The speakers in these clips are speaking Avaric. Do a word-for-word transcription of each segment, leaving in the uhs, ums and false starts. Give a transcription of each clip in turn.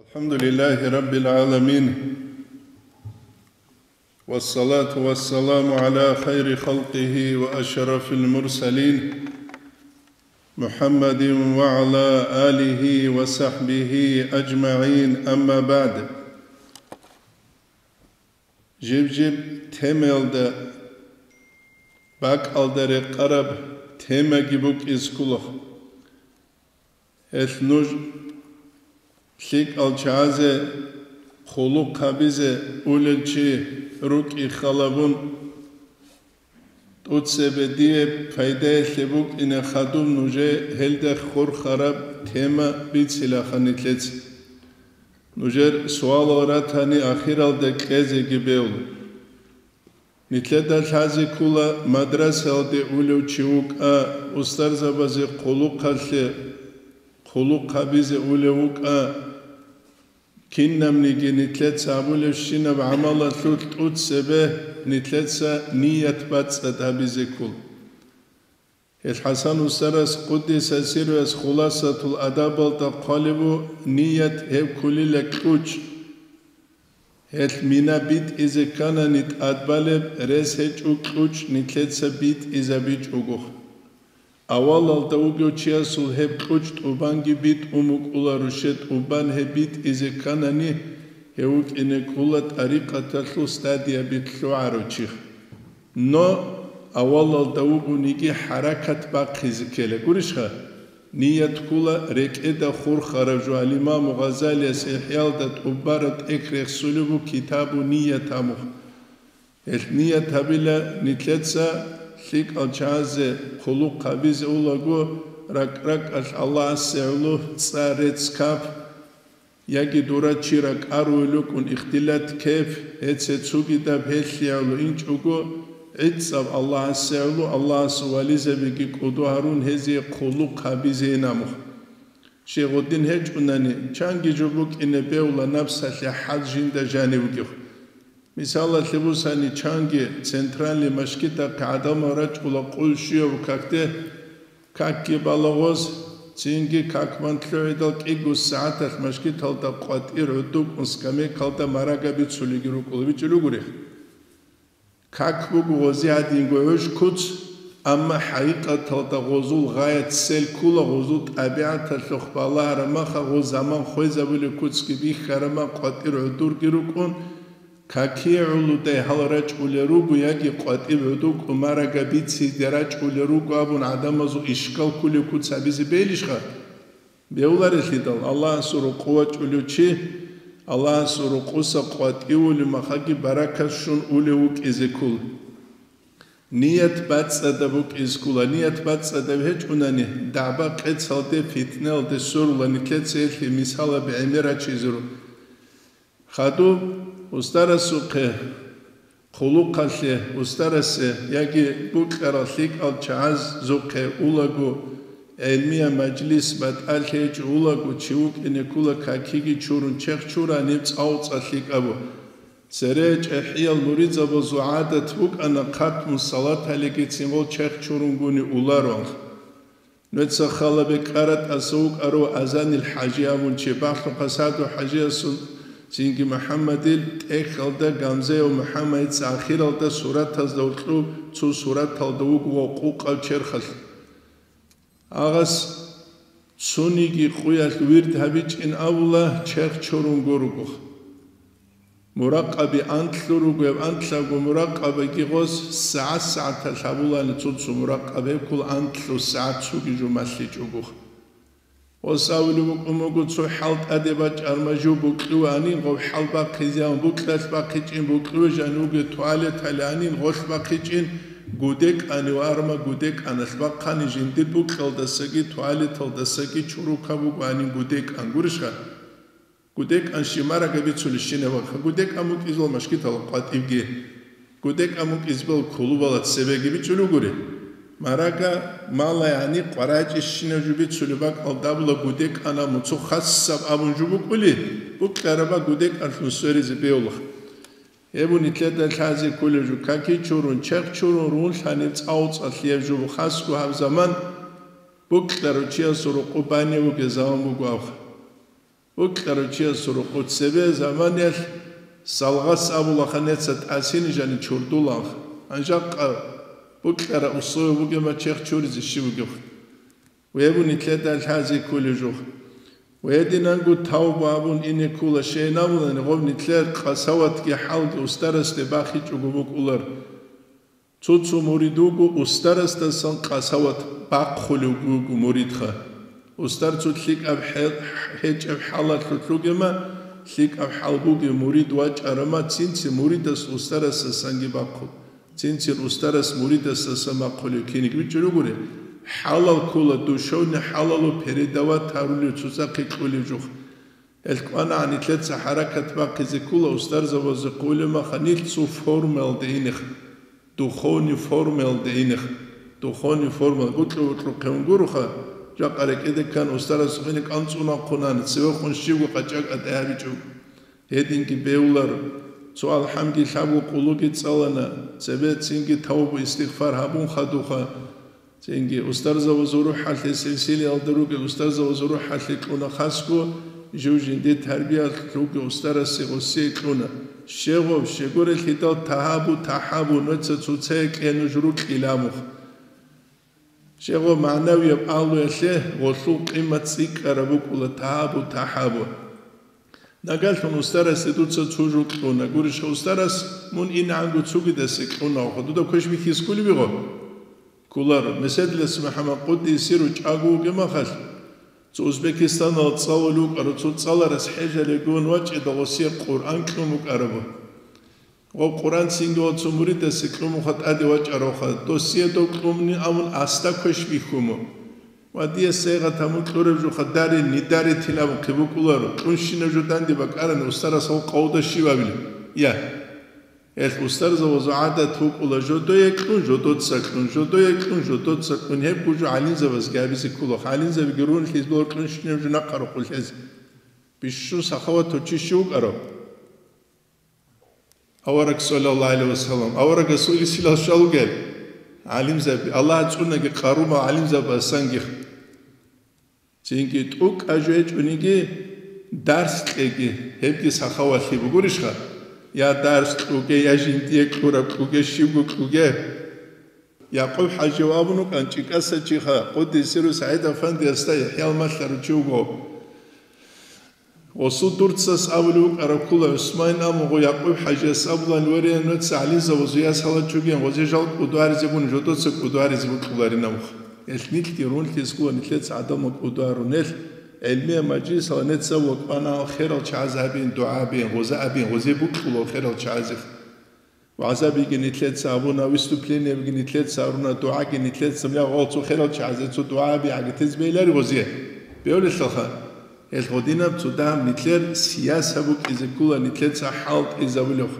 الحمد لله رب العالمين، والصلاة والسلام على خير خلقه وأشرف المرسلين، محمد وعلى آله وصحبه أجمعين، أما بعد. Жиб-жиб темаялда, бакӀалда рекъараб темаги букӀизе ккола. Гьелъ нуж лъикӀал чагӀазе хъулухъ гьабизе улел чи рукӀин халабун, тӀоцебе дие пайдаялъе букӀине хадуб нужее гьелда хурхараб тема бицилаха нилъеца. Нужер суалал ратани ахиралда кьезеги бегьула. Нилъеда лъазе ккола, мадрасаялде улев чи вукӀа, устарзабазе хъулухъалъе, хъулухъ гьабизе улев вукӀа, кинабниги нилъеца гьабулебщинаб гӀамалалъулъ тӀоцебе нилъеца ният бацӀцӀад гьабизе ккола. Гьел ХӀасан устарас, къуддиса сирругьу, Хуласатул Адабалда хъвалеб буго: ният гьеб кколила кьучӀ. Гьелъ мина битӀизе кканани тӀадбалеб рес гьечӀо кьучӀ нилъеца битӀизабичӀого. Авалалда вугев чиясул гьеб кьучӀ тӀубанги битӀун букӀула, руше тӀубан гьеб битӀизе кканани, гьев вукӀине ккола тӀарикъаталъул стадияби лъугӀарав чи. Но авалалда вугониги хӀаракат бахъизе ккела. Гурищха? Ният ккола рекӀеда хурхараб жо. Ал-Имаму Гъазалияс ИхӀялда тӀубараб тӀехь рехсулеб буго китабу ният абун. Гьелъ ният гьабила нилъеца лъикӀал чагӀазе хъулухъ гьабизе улаго, ракӀ-ракӀалъ Аллагьасе гӀоло цӀа рецц кап, яги дура чи ракӀарулел рукӀун ихтилат кеп, гьеце цугидаб гьелъие гӀоло инчӀого, гӀицӀаб Аллагьасе гӀоло, Аллагьасул вализабиги кӀодо гьарун гьезие хъулухъ гьабизейин абун. Щай гъодин гьечӀунани, чанги жо букӀине бегьула напсалъе хӀал жинда жанив вугев. Мисалалъе бусани, чанги центральный машгитахъе гӀадамал рачӀула къул щуяб какде, какги балагъоз, цинги как бан лъугӀидал кӀиго сагӀаталъ машгиталда къватӀир гӀодобкӀун скамейкалда марагаби цулиги рукӀула, бичӀчӀулел ругони. Как буго гъози гьадинго гӀуж куц, амма хӀакъикъаталда гъозул гъаят сел ккула, гъозул тӀабигӀаталъухъ балагьараб маха гъоз заман хвезабулеб куцги бихьараб мах къватӀир гӀодорги рукӀун, какие гӀолодай гьал рачӀулел руго яги къватӀиб гӀодобкӀун марагаби цинги рачӀулел руго абун гӀадамазул ишкал кколеб куц гьабизе бегьилищха? Бегьуларелъидал, Аллагьасул рокъов вачӀулев чи, Аллагьасул рокъоса къватӀивулев махаги баракат щун улев вукӀизе ккола. Ният бацӀцӀадаб букӀизе ккола. Ният бацӀцӀадаб гьечӀунани, дагӀба-къецалде, фитналде сверула нилъеца гьелъие мисалаби гӀемерачизе руго. Хадуб устарасухъе, хъулухъалъе, устарасе яги букьарал лъикӀал чагӀазухъе улаго, гӀелмияб мажлис батӀалъи гьечӀо улаго, чи вукӀине ккола какиги чурун, черх чураниб цӀалцӀа лъикӀабу. Цере чӀехӀиял муридзабазул гӀадат букӀана хъатму салаталигицин гъол черх чурунгуни улароан. Нуца хала бекьара тӀаса вукӀарав Азанил ХӀажи абун чи, Бахлъухъа СагӀду ХӀажиясул цинги МухӀаммадил тӀехьалда Гамзаев МухӀаммадица ахиралда суратазда гьоркьоб цо сураталда вуго ва къукъав черхалъ. Агъас цониги къуялъ вирд гьабичӀин абула, черх чурунго руго. Муракъаби анлъго руго, гьеб анлъабго муракъабиги гъос сагӀат-сагӀаталъ гьабулани цо-цо муракъаби, гьеб ккола анлъго сагӀат цоги жо малъичӀого. Гъос абулеб букӀун буго, цо хӀал тӀаде бачӀарма жо букьиве анин, гъоб хӀал бахъизе ан букьалъ бахъичӀин, букьиве жаниве туалеталде анин, гъолъ бахъичӀин, гудекӀанив арма гудекӀаналъ бахъани, жиндир букьалдасаги туалеталдасаги чурукаб буго анин гудекӀан. Гурищха? ГудекӀан щиб марагаби бицулищинаб вахъа, гудекӀан букӀизул машгитал къватӀибги, гудекӀан букӀизбал кулубала цебеги бичӀчӀулел ругури. Марага мала, яни къварачӀищинаб жо бицулеб бакӀалда абула, гудекӀана муцу хасаб абун жо букӀули, букьараба гудекӀанлъун сверизе бегьулаха. Гьеб нилъеда лъазе кколеб жо, каки чурун, черх чурун рунлъаниб цӀалцӀалъияб жо, хасго гьаб заман букьарав чиясул рокъоб бане вугеб заман буго абха. Букьарав чиясул рокъо цебе заманиялъ салгъас абулаха, неца тӀасини жани чурдуланха. Гьанжакъа букьараб условие бугема чехь чуризе щиб бугев. Вебу нитлъеда лъази кколев жух. Вединанго тавба абун ине ккула, щейин абунани гъоб нитлъер къасаватги хӀалги устарасде бахичӀого букӀулар. Цо-цо мурид вуго устарасдасан къасават бахъулев вуго муридха. Устар цо лъикӀаб хӀе-, гьечӀеб хӀалалъулъ ругема, лъикӀаб хӀал бугев мурид вачӀарама, цинцин муридас устарасдасанги бахъул. Цинцин устарас муридасдасан бахъулев киниг вичӀчӀун вугури, хӀалал ккула, душевный хӀалалу передавать гьарулев цоцахъе кьулев жух. Гьел кӀванагӀан нилъеца хӀаракат бахъизе ккула, устарзабазе хъулеб маха нилъ цо формаялде инех, духовный формаялде инех, духовный форма, букьа-букьухъе унгуруха, жакъа рекӀеде ккан устарас гъине кӀанцӀун вахъунани, цевехун щибго къачӀа-къатӀи гьабичӀо. Гьединги бевлар, цо алхӀамги лъабго къулуги цӀалана, цебе цинги тавбу-истигъфар гьабун хадуха, цинги устарзабазул рухӀалъе силсилиялда ругел устарзабазул рухӀалъе кьуна хасго, жив жинде тарбиялъ ругел устарасе гъосие кьуна. Щегъов, щегорелъидал тагьабу-тахӀабу, нуца цоцае кье нуж рукьила мух. Щегъов, магӀнавияб агьлуялъе гъолъул къимат цӀикӀкӀараб букӀула тагьабу, тахӀабу. Нагагьлъун устарасе дуца цо жо кьуна. Гурищха, устарас мун инегӀанго цогидасе кьуна, ваха, дуда квеш бихьизе кколеб буго? Кколаро. Меседилас МухӀаммад къуддисе сиру чӀаго вугеб махалъ, цо Узбекистаналда цӀалулев вукӀарав цо цӀаларас хӀежалеб гун вачӀида гъосие Къуръан кьун букӀарабу. Гъоб Къуръан цинги ва цо муридасе кьумуха тӀаде вачӀаравха, досие дов кьумни абун асда квеш бихьумо. Ва дие сайгъат гьамун кьураб жуха дари нидари тилабухъе букӀуларо, кьунщинаб жо данде бакӀарани устарас гьав къавда щибабилеб? Я. Гьелъ устарзабазул гӀадат букӀула жодое кьун, жодоца кьун, жодое кьун, жодоца кьун. Гьеб гужу гӀалимзабазги гьабизе ккола. ГӀалимзабиги рунлъиз бо кьунщинаб жо нахъа рокъулъ гьез. Бищун сахаватав чи щив вукӀарав? Авараг, саллаллагьу гӀалайгьи ва саллам, аварагасул исилал щалугел гӀалимзаби, Аллагь цӀунаги къарумал гӀалимзабасанги. Цинги тӀукӀа жо гьечӀониги, дарс кьеги, гьебги сахавалъи бугурищха? Я дарс кьуге, я жиндие кьураб кьуге, щибго кьуге. Якъуб-хӀажияв абун вукӀан ЧӀикӀаса чиха, къуддиса сирругьу, СагӀид-афандиясда ЯхӀял малъарав чи вуго. Гъосул дурцас абулев вукӀараб ккола ГӀусман, амма гъо Якъуб-хӀажияс абулан: «Варе, нуца гӀалимзабазул ясалачӀуген, гъозе жал кӀудваризебун, жодоца кӀудваризе букьуларинавха». Гьелъ нилъги рунлъиз ккола нилъеца гӀадамал кӀудварун. Гьелъ гӀелмияб мажлисалда нуца вукӀана херал чагӀаз абин, дугӀа абин, гъоза абин, гъозе букьула херал чагӀазех. ВагӀзабиги нилъеца абуна, выступлениябиги нилъеца гьаруна, дугӀаги нилъеца, я гъол цо херал чагӀазе цо дугӀа аби гӀагатизе бегьилари гъозие. Бегьулелъулха, гьел гъодинаб цо дагьаб нилъер сияса букӀизе ккола, нилъеца хӀалтӀизабулев,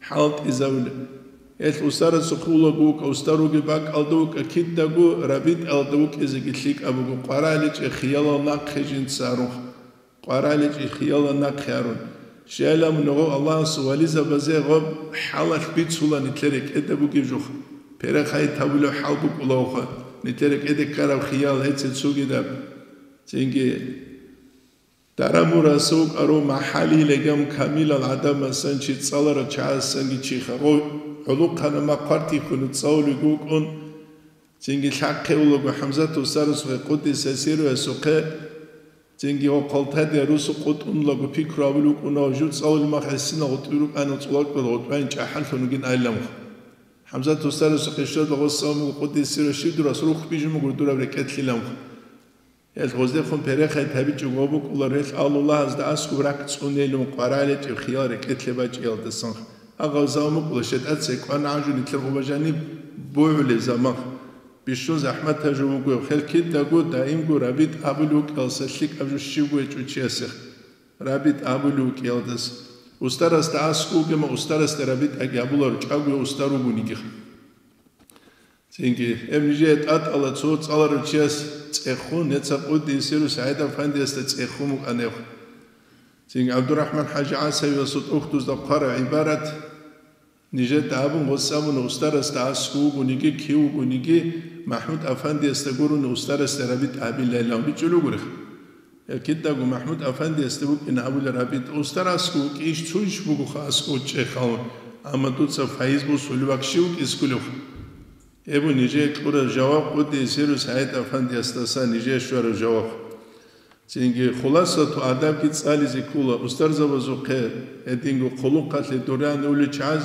хӀалтӀизабулев. Гьел устарасухъе улаго вукӀа, устар вугеб бакӀалда вукӀа, кидаго рабитӀалда вукӀизеги лъикӀаб буго, къвараличӀеб хиялал нахъе жинца гьарун. КъвараличӀеб хиялал нахъе гьарун. Щайилан гъоб Аллагьасул вализабазе гъоб хӀалалъ бицула нилъер рекӀеда бугеб жух. Перехайит гьабулев хӀал букӀулавха, нилъер рекӀеде ккараб хиял гьеце цогидаб. Цинги Дарамураса вукӀарав МахӀали легам камилал гӀадамасан чи цӀаларал чагӀасанги чиха гъов гӀолохъанаб махъ хъвартихьун цӀалулев вукӀун, цинги лъахъе улаго ХӀамзат устарасухъе, къуддиса сирругьу, ясухъе, цинги гъо Хъалтадия русу къутӀун улаго пикру гьабулев вукӀуна ва жуцӀалул мах гӀисинал гъутӀби рукӀана цӀулаккал гъутӀбайин чӀахӀаллъун вугин айилан. ХӀамзат устарасухъе щведал гъосамул къуддиса сирругьу щиб дур рас рухбижун буго дураб рекӀелъилан. Гьел гъоздехун перехайит гьабичӀого букӀула релъ Аллагьасда аскӀоб ракӀ цӀунейилан къвараличӀеб хиял рекӀелъе бачӀиялдасан. Агъав заман букӀула шетӀаца кӀван гӀанжу нилъер гъоба жаниб бугӀулеб заман. Бищун захӀматаб жо буго, хел кидаго даимго рабитӀ абулев вукӀиялса лъикӀаб жо щибго гьечӀо чиясех. РабитӀ абулев вукӀиялдас. Устарасда аскӀов вугема, устарасда рабитӀаги абуларо, чӀаго устар вугониги. Цинги, гьеб нижее тӀатӀала цо цӀаларав чияс цӀехун, неца къуддиса сирругьу СагӀид-афандиясда цӀехун букӀана гьев. Цинги ГӀабдурахӀман-хӀажи ГӀасавиясул тӀухьдузда хъвараб гӀибарат, нижеда абун гъос абуна, устарасда аскӀов вугониги, кив вугониги, МахӀмуд-афандиясда гурони устарасда рабитӀ абилайилан бичӀчӀулев гурихъ. Я кидаго МахӀмуд-афандиясда букӀина абулеб гьабида, устарасго вукӀищ, цойищ бугоха аскӀов чӀехъалун, амма дуца файз босулев вакӀ щив вукӀискулев? Гьеб нижее кьураб жаваб къуддиса сирругьу СагӀид-афандиясдаса нижее щвараб жаваб. Цинги хуласату адабги цӀализе ккола, устарзабазухъе гьединго хъулухъалъе дуран улел чагӀаз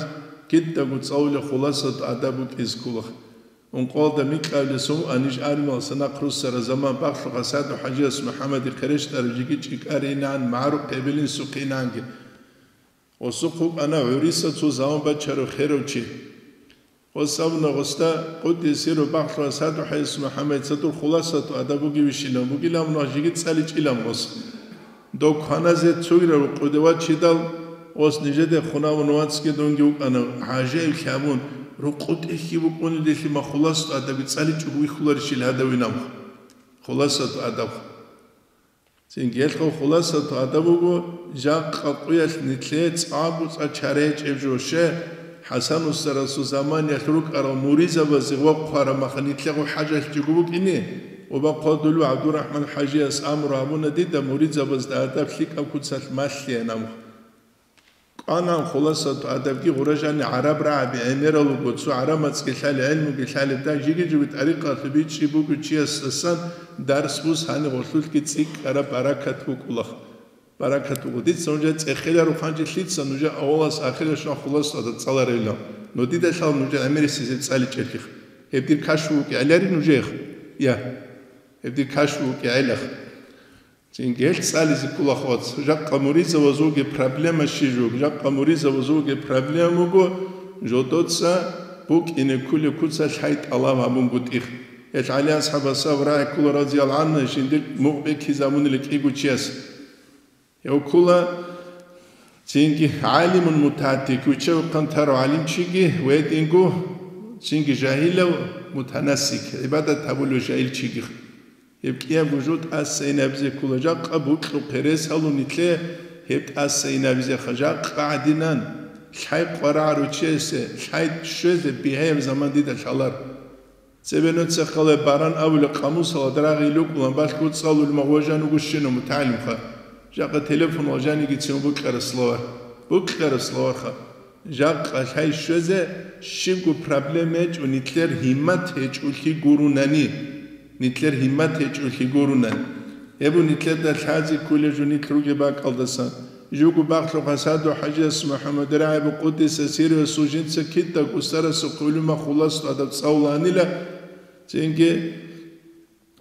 кидаго цӀалулеб хуласату адаб букӀизе ккола. Ункъоялда микьабилеб сон аниж армиялдаса нахъ руссараб заман бакълъуха СагӀду-хӀажияс МухӀаммадихъе рещтӀарав жеги чӀикӀаринан, магӀарухъе эбел-инсухъе инанги. Гъосухъ вукӀана гӀуриса цо заман бачарав херав чи. Гъос абуна гъосда, къуддиса сирругьу, бакълъуха СагӀду-хӀажияс МухӀаммадица дур хуласату адаб бугевищилан, бугилан мун жеги цӀаличӀилан гъос. Дов кваназе цогидал рукъуде вачидал, гъос нижеде хун абун вацги дунги вукӀана, гӀажаиблъи абун, рукъу тӀехьги букӀунелдалъи ма хуласату адабги цӀаличӀого вихьуларищил гьадавинаб хуласату адаб. Цинги гьелъул хуласату адаб буго, жакъа къуялъ нилъее цӀакъго-цӀакъ чара гьечӀеб жо, щай, ХӀасан устарасул заманиялъ рукӀарал муридзабазе вахъ хъвараб маха нилъего хӀажалъичӀого букӀине, Убахъ Хъодулев ГӀабдурахӀман-хӀажияс амру гьабуна дида муридзабазда адаб лъикӀаб куцалъ малъеян абун. КӀванан хуласату адабги гъура жани гӀараб рагӀаби гӀемерал руго, цо гӀараб мацӀги лъали, гӀелмуги лъали, дай жиги-жиги тӀарикъалъуб бичӀчӀи буго чиясдасан дарс бус гьаниб гъолъулъги цӀикӀкӀараб баракат букӀулаха. Баракат буго. Дица нужее цӀехеларухъанчи лъица нужее авалас ахиралъ щван хуласату адаб цӀаларевилан. Но дида лъала нужее гӀемерисез гьеб цӀаличӀеблъи. Гьеб дир кашфу вукӀигӀелари нужеех? Я. Гьеб дир кашфу вукӀигӀелаха. Цинги гьелъ цӀализе ккола хвац. Жакъа муридзабазулги проблема щиб жо, жакъа муридзабазулги проблема буго, жодоца букӀине кколеб куцалъ лъай тӀалаб гьабунгутӀи. Гьелъ ГӀали асхӀабасда абураб рагӀи ккола, радияллагьу гӀангьу, жиндир мукъ бекизабунила кӀиго чияс. Гьев ккола цинги гӀалимун мутагӀаддид, вичча-вихъан тарав гӀалимчиги ва гьединго цинги жагьилав мутанассик, гӀибадат гьабулев жагьилчиги. Гьеб кӀиябго жо тӀаса инабизе ккола, жакъа бокьухъе рес гьалун нилъее гьеб тӀаса инабизеха, жакъа гӀадинан лъай къварагӀарав чиясе лъай щвезе бигьаяб заман дида лъалар. Цебе нуца хъалай баран абулеб къамусалда рагъи лукӀулан балъго цӀалулеб магъ важан вугощинав мутагӀалимха. Жакъа телефонал жанигицин букьараб словарь. Букьараб словарьха. Жакъа лъай щвезе щибго проблема гьечӀо, нилъер гьиммат гьечӀолъи гурунани. Нилъер гьиммат гьечӀолъи гурунани. Гьеб нилъеда лъазе кколеб жо нилъ ругеб бакӀалдасан. Жуго бакълъухъа СагӀду-хӀажияс МухӀаммад рагӀабу къуддиса сирругьу жинца кидаго устарасухъе гӀолумахъ хуласату адаб цӀалулаанила, цинги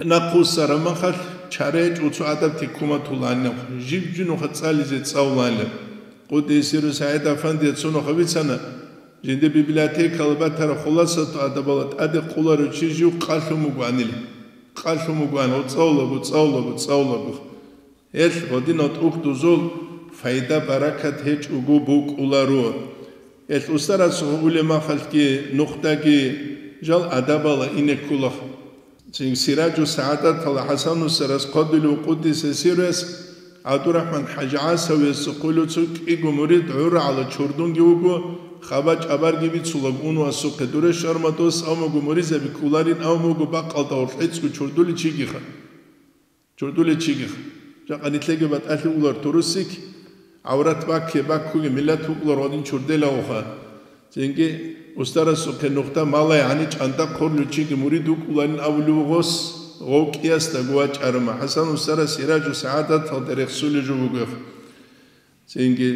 нахъ вуссараб махалъ чара гьечӀо цо адаб тиккун батулаанилан, жиб-жиб нухалъ цӀализе цӀалулаанилан. Къуддиса сирругьу СагӀид-афандияс цо нухалъ бицана, жиндир библиотекалда батараб хуласату адабалда тӀаде къуларев чи жив къалъун вугоанила. Къалъун вугоан, гъо, цӀалулаго, цӀалулаго, цӀалулаго. Гьелъ гъодинал тӀухьдузул пайда-баракат гьечӀого букӀуларо. Гьелъ устарасухъе гӀолеб махалъги нухдаги жал адабалда ине ккола. Цин Сираджу СагӀадаталда ХӀасан устарас хъвадулев къуддиса сирругьу ГӀабдурахӀман-хӀажи ГӀасавиясухъе гӀолев цо кӀиго мурид гӀургӀала чордунги вуго, хабар-чӀабарги бицулаго ун васухъе. Дуре шармадос абун буго муридзаби кколарин, абун буго бакъалда гъорлъ гӀицӀго чордулев чигиха. Чордулев чигиха. Жакъа нилъеги батӀалъи угулар турусик, гӀаврат бакке баккуге миллат вукӀулар гъодин чорделагоха. Цинги устарасухъе нухда малай гьани чӀанда хъурлъучиги мурид вукӀуларин абулев гъос, гъов кӀиясдаго вачӀарама. ХӀасан устарас Сираджу СагӀадаталда рехсулев жо вугев. Цинги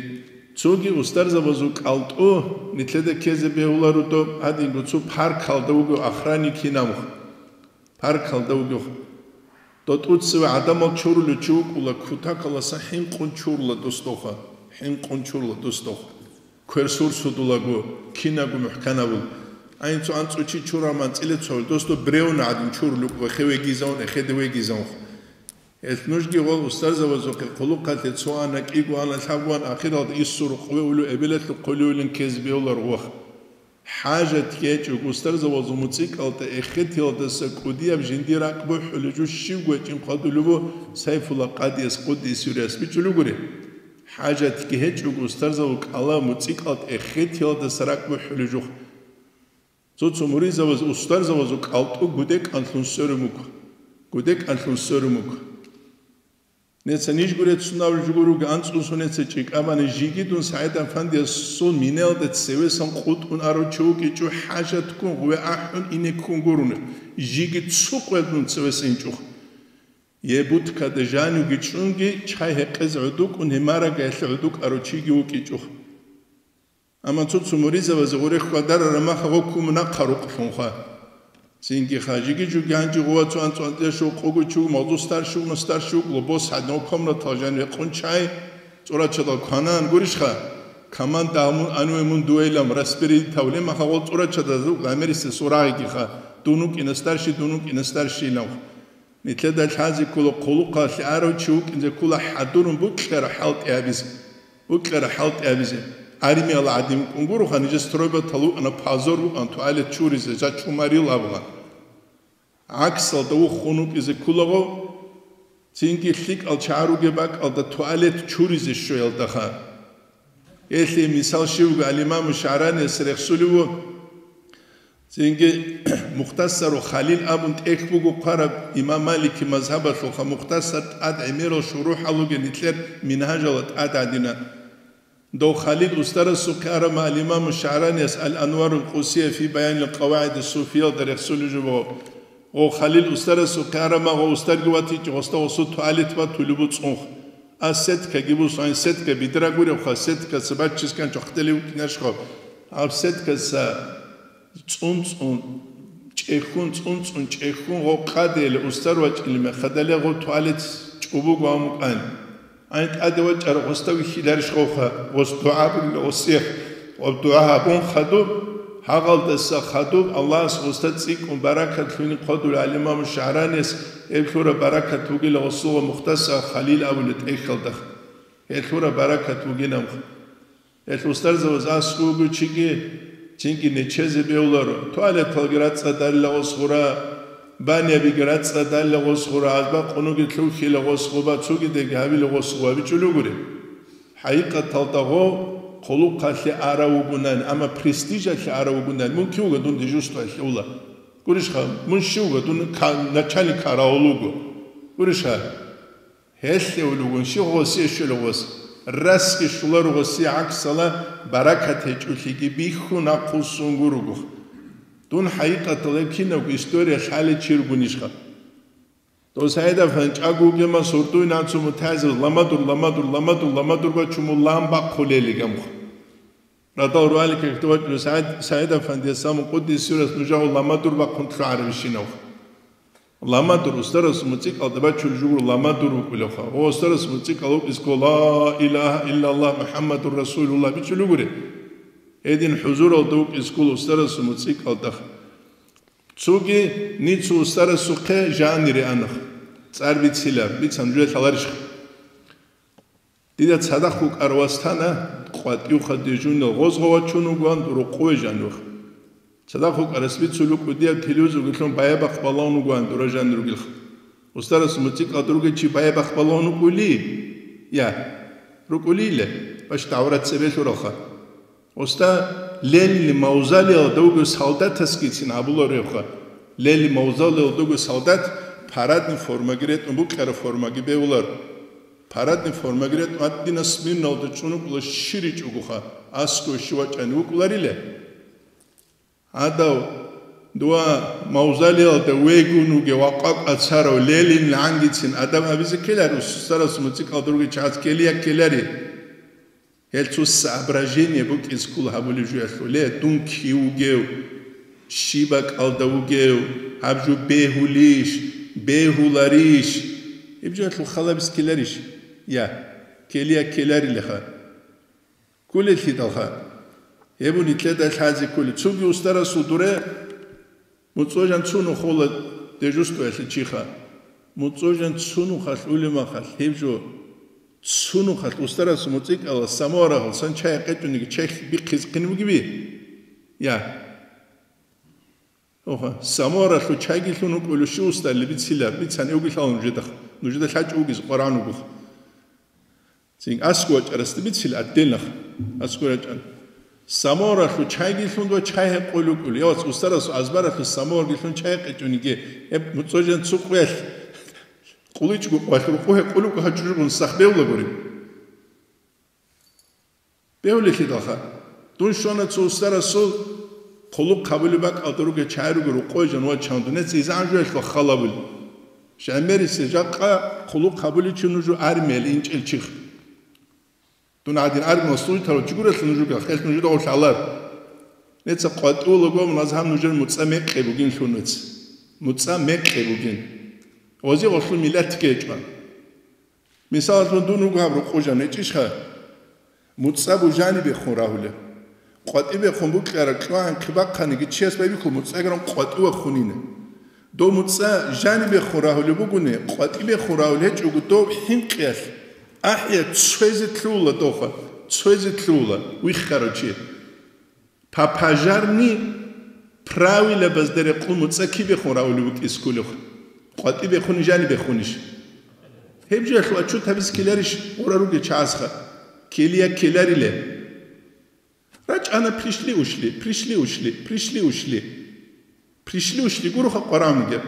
цоги устарзабазул кӀалтӀу нилъеда ккезе бегьуларо доб, гьадинго цо паркалда вуго охранник кинаб. Паркалда вугев. ДотӀуцеве гӀадамал чорулев чи вукӀула, кутакаласа хӀинкъун чурула досдоха, хӀинкъун чурула досдоха. Квер сурсудулаго, кинаго мухӀканабул. Ай цо анцӀго чи чураб анцӀила цо, досдо бревна гӀадин чурулев вукӀула, хе вегизавун, эхеде вегизавун. Гьелъ нужги гъол устарзабазухъе хъулухъалъе цо ана, кӀиго ана, лъабго ана, ахиралда иссурухъ ве улев эбелалъухъ хъулевилин ккезе бегьулар гъох. ХӀажат гьечӀого устарзабазул муцӀикӀалда эхетиялдаса кӀудияб жиндир ракӀ бухӀулев жо щивго гьечӀин хъвадулев ву Сайфулла къадияс къуддиса сирругьу бичӀчӀулев гури. ХӀажатги гьечӀого устарзабазул кӀалаб муцӀикӀалда эхетиялдаса ракӀ бухӀулев жо. Цо-цо муридзабаз устарзабазул кӀалтӀу гудекӀанлъун сверун буго. ГудекӀанлъун сверун буго. Неца нижго реццун абулеб жо гуро, анцӀго сунеца чӀикӀабани, жиги дун СагӀид-афандиясул минаялда цевесан къутӀун арав чи вукӀинчӀо, хӀажатккун гъуве ахӀун ине ккун гурони, жиги цо къоялъ дун цевесан инчӀо. Е будкада жанивги чӀунги, чай гьекъезе гӀодукӀун, гьемарага гьелъе гӀодукӀарав чиги вукӀинчӀо. Амма цо-цо муридзабазе гъуре хьвадарараб махалъ гъо ккун нахъа рукълъунха. Цинги хажиги жуги гьанже гъова цо анцӀ-анцӀила щуго къого чи вуго, магъзу старший вугони старший вукӀула, бос гьадинал комнатал жаниве къун чай, цӀурачадал кванан гурищха, команда гьамун аниве мун дуэйлан распределить гьавулеб махалъ гъол цӀурачадаз рукӀла гӀемерисел сорагӀигиха, дун вукӀина старший, дун вукӀина старший илан. Нилъеда лъазе ккола хъулухъалъе арав чи вукӀинзе ккола хӀадурун букьараб хӀалтӀи гьабизе. Букьараб хӀалтӀи гьабизе. Армияла гӀадин вукӀун гуроха, нижер стройбатал вукӀана, позор вукӀана, туалет чуризе, жа чумарил абула. ГӀаксалда вухун вукӀизе кколаго, цинги лъикӀал чагӀар ругеб бакӀалда туалет чуризе щвеялдаха. Гьелъие мисал щивго ал-Имаму ШагӀранияс рехсулев вуго. Цинги Мухтасару Халил абун тӀехь буго хъвараб имам Малики мазгьабалъулха, Мухтасар тӀад гӀемерал шурухӀал ругел нилъер Мингьажалда тӀад гьадина. Дов Халил устарасухъе арама ал-Имаму ШагӀранияс Ал-Анварул Къусия фи баянил къавагӀиди суфиялда рехсулев жо буго. Гъов Халил устарасухъе арама, гъов устарги ватичӀо, гъосда гъосул туалет батулеб буцӀунха. А сеткаги бусун, сетка бидра гуребха, сеткаца баччискан чохтели вукӀинарищха? Гьаб сеткаца цӀун-цӀун, чӀехьун, цӀун-цӀун, чӀехьун гъов къадейила устар вачӀилин мехалъ гъов туалет чӀобого гьавун вукӀан. Ай тӀаде вачӀарав гъосда вихьиларищ гъовха, гъос дугӀа бугила гъосие, ва дугӀа гьабун хадуб, гьагъалдаса хадуб, Аллагьас гъосда цӀикӀкӀун баракат лъугьине хъвадулев ал-Имаму ШагӀранияс, гьеб лъураб баракат бугила гъосулгъа Мухтасар Халил абулеб тӀехьалда. Гьелъ гьураб баракат бугин абха. Гьелъ устарзабаз аскӀов вугев чиги, цинги нечезе бегьуларо. Туалеталги рацӀцӀадалила гъос гъура, баниябиги рацӀцӀадалила гъос гъура, азба къунуги лъухьила гъос гъуба, цогидеги гьабила гъос гъуба, бичӀчӀулев гури. ХӀакъикъаталда гъо хъулухъалъе арав вугунан, амма престижалъе арав вугунан, мун кив вуго дун дежурствоялъе ула? Гурищха, мун щив вуго, дун ка-, начальник караул вуго? Гурищха? Гьелъ гьев вугун, щив гъосие щолев гъос, расги щоларо гъосие гӀаксала баракат гьечӀолъиги бихьун ахъусун гуруго. Дун хӀакъикъаталда гьеб кинабго история лъалел чи ругунищха? Дов СагӀид-афанди чӀаго вугема сордуй нацумутазив ламадур, ламадур, ламадур, ламадур бачумул лан бахъулел гамха. Радал руали кагьту вачӀули СагӀид-, СагӀид-афандияс самун къуддис сирас нужагьу ламадур бахъун лъугӀарабищинав. Ламадур, устарасул муцӀикӀалда бачул жугьур ламадур вукӀулевха. Ва устарасул муцӀикӀал вукӀискӀо, «Ла илагьа иллаллагь, МухӀаммадур Расулуллагь», бичӀчӀулев гури. Гьедин хӀузуралда вукӀискӀул устарасул муцӀикӀалда. Цоги ницу устарасухъе жанире анах. ЦӀар бицила, бицан жуя лъаларищха? Дида цадахъ вукӀар вас тана, къватӀивха дежурный гъозгъа вачун вугоан, рукъове жанивха. Цадахъ вукӀарас бицул вукӀу дияб телевизоргилъун баябахъ балагьун вугоан дура жанир ругелха. Устарас муцӀикӀал дуруги чи баябахъ балагьун вукӀули? Я, рукӀулиле, баш давра цебе лъуралха. Уста, Ленин мавзолеялда вугев солдатасгицин абуларевха. Ленин мавзолеялда вугев солдат парадный формаги ретӀун, букьараб формаги бегьулар. Парадный формаги ретӀун гьадинаб сминалда чӀун вукӀула, щиричӀогоха, аскӀов щив вачӀани вукӀуларила. Гьадав, дова мавзолеялда вегун вугев ва къвакӀа царав Ленин лъангицин адаб гьабизе ккелари, устарас муцӀикӀал дуруги чагӀаз ккелия ккелари. Гьел цо соображение букӀиз ккола гьабулеб жуялъуле, дун кив вугев, щиб бакӀалда вугев, гьаб жо бегьулищ, бегьуларищ? Гьеб жуялъул халабиз ккеларищ? Я, ккелия ккеларилаха. Кколелъидалха. Гьеб нилъеда лъазе кколеб. Цоги устарасул дуре МуцӀожан цунухъ ула дежурствоялъе чиха. МуцӀожан цунухъалъ улемахалъ гьеб жо, цунухъалъ устарас муцӀикӀала самуарагьал сан чай гьекъечӀониги чехь бихъизе хъин бугеби? Я. Оха, самуаралъул чайги лъун вукӀулев щив устарли бицила, бицани угилъала нужеда, нужеда лъачӀо вугизе къваран вугоха. Цин аскӀов вачӀарасда бицила отдельно. АскӀов вачӀан. Саморалъул чайги лъун ва чай гьекъолев вукӀулев. Я вац, устарасул азбаралъул саморги лъун чай гьекъечӀониги, гьеб муцӀожан цукъвелъ. Къуличгу къвалъ рукъу гьекъулукъ гьачӀужугун сах бевла гури. Бевлелъидалха. Дун щвана цо устарасул хъулухъ гьабулеб бакӀалда ругел чагӀи руго рукъой жанивачан дунеца изан жоялъул халабул. Жамерисел жакъа хъулухъ гьабуличи нужу армиял инчӀел чихъ. Дун гӀадин армиял служитарав чи гурелъул нужуга, хелъ нужеда гъорлъ гьалар. Неца къватӀулаго мун азгьам нужер муцӀа мекъи бугин лъун вец. МуцӀа мекъи бугин. Гъози гъолъул миллатги гьечӀо. Мисалалъун, дун руго гьаб рукъужан гьечӀищха? МуцӀа бужани бехун рагьулеб. КъватӀи бехун букьараб кьвагӀан хъибахъаниги чияс байбихьу муцӀагаран къватӀи вахунина. Дов муцӀа жани бехун рагьулеб бугони, къватӀи бехун рагьулеб гьечӀого дов хӀинкъиялъ, ахӀия цоязе лъугьула дохъа, цоязе лъугьула, виххарав чи. По пожарни правилабазда рекъон муцӀа кибехун рагьулев вукӀис кколев? КъватӀи бехуни жани бехунищ? Гьеб жоялъул отчет гьабиз ккеларищ гъура ругел чагӀазха? Ккелия ккелариле. РачӀана пришли ушли, пришли ушли, пришли ушли. Пришли ушли гуроха къварагӀун бугеб.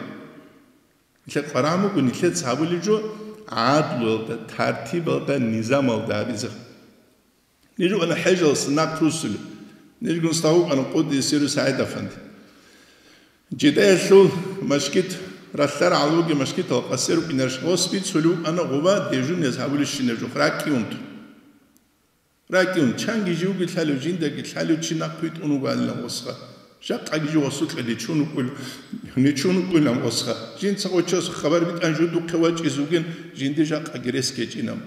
Нилъер къварагӀун буго нилъеца гьабулеб жо гӀадлуялда, тартибалда, низамалда гьабизе. Ниж вукӀана хӀежалъуса нахъ руссулеб. Нижгун стагъукъана къуддиса сирругьу СагӀид-афанди. Жидаялъул машгит, ралъдал гӀалуги машгитал къасер рукӀинарищ, гъос бицулев вукӀана гъуба дежурияз гьабулебщинаб жо, ракӀги унтун. РакӀги ун, чанги живги лъалев, жиндаги лъалев чи нахъ витӀун вугоанилан гъосха. Жакъаги жо гъосукьа нечун вукӀун, нечун вукӀунилан гъосха. Жинца гъочасухъ хабар битӀан жо духъе вачӀиз вугин, жинди жакъаги рес гьечӀинаб.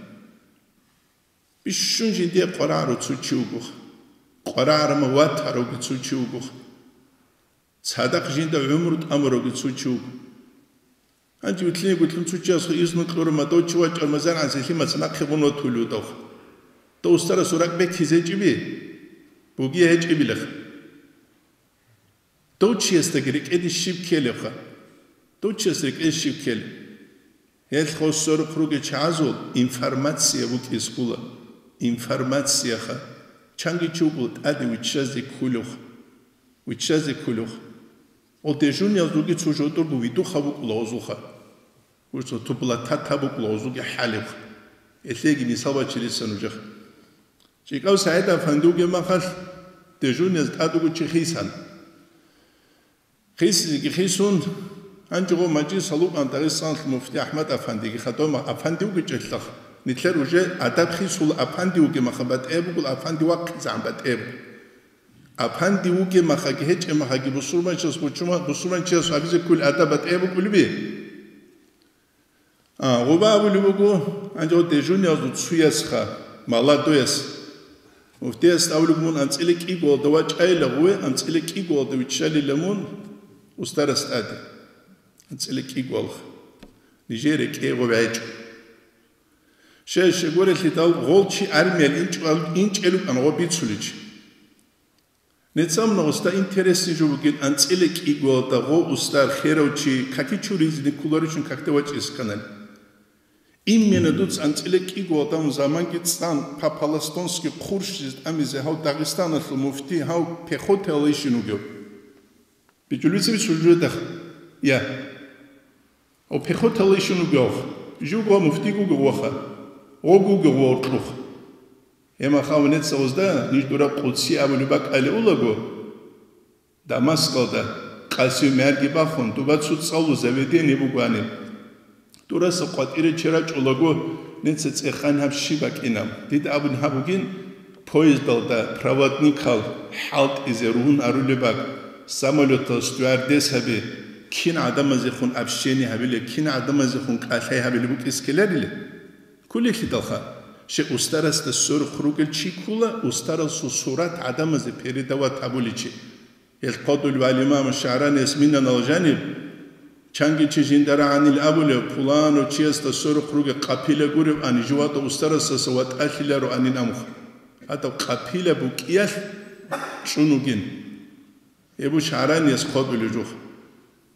Бищун жиндие къварагӀаро цо чи вугоха. КъварагӀарамал ватаравги цо чи вугоха. Цадахъ жинда гӀумру тӀамуравги цо чи вуго. Гьанже вилълъине-гуллъун цо чиясул изну кьураб мадав чи вачӀар мазан гӀанси лъимаца нахъе гъун ватулев вудавха. Дов устарасул ракӀ бекизе гьечӀеби? Бугей гьечӀебилаха. Дов чиясдаги рекӀеде щиб ккелебха? Дов чияс рекӀеде щиб ккелеб? Гьелъ гъосорухъ ругел чагӀазул информация букӀизе ккола. Информацияха. Чанги чи вуго тӀаде виччазе кколевха. Виччазе кколевха. Гъол дежуриял руги цо жодорго видухъав вукӀула гъозулха. Гъурцо тубла тата букӀула гъозулги хӀалебха. Гьелъеги мисал бачилиса нужеха. ЧӀикӀав СагӀид-афанди вугеб махалъ, дежурияз тӀад вуго чи хисана. Хисизеги хисун, гьанже гъо мажлис гьалукъан Дагъистаналъул муфти АхӀмад-афандиги хадума афанди вугечӀелъах, нилъер уже адаб хисула афанди вугеб маха батӀияб бугул, афанди вахъизегӀан батӀияб буго. Афанди вугеб махаги гьечӀеб махаги бусурманчияс бучума-, бусурманчияс гьабизе кколел адаб батӀияб букӀулеби? А, гъуба абулеб буго, гьанже гъо дежуриясул цоясха, молодояс. Муфтияс абулеб мун анцӀила кӀигоялда вачӀайила гъуве, анцӀила кӀигоялда виччалила мун устарас тӀаде. АнцӀила кӀигоялха. Нижер рекӀее гъуве гьечӀо. Щай-щай гурелъидал гъол чи армиял инчӀвал-, инчӀел рукӀан гъо бицуличи. Нецамна уста интересный жо бугин, анцӀила кӀигоялда гъо устар херав чи каки чуризни кколаричун какде вачӀиз кканани. Именно дуца анцӀила кӀигоялда заманги цӀан по-палестински хъурщизе тӀамизе гьав Дагъистаналъул муфти гьав пехотаялайщин вугев. БичӀулбицаби суждадах, я. Гъо пехоталайщин вугев, живго муфтиг вугев ваха, гъог вугев ва уркьух. Гьеб махалъ нецаузда ниж дураб къудси абулеб бакӀалеулаго, Дамаскалда, къасив мярги бахун, дуба цо цӀалу заведение бугоаниб. Дураса къватӀире чи рачӀулаго, неца цӀехани гьаб щиб бакӀинаб? Дида абун гьаб бугин, поездалда проводникал хӀалтӀизе ругьун арулеб бакӀ, самолетал стюардессаби, кин гӀадамазехун общение гьабилеб, кин гӀадамазехун кӀалъай гьабилеб букӀиз ккеларилеб? Кколелъидалха, щай устарасда сверухъ ругел чи ккола, устарасул сурат гӀадамазе передавать гьабуличи. Гьел хъодулев гӀалимам ШагӀранияс минанал жаниб, чанги чи жинда рагӀанил абулев, пуланав чиясда сверухъ ругел къапила гуреб ани, живада устарасдаса ватӀалъиларо анин амухъ. Гьадаб къапила букӀиялъ чӀун вугин. Гьеб ШагӀранияс хъодулев жух.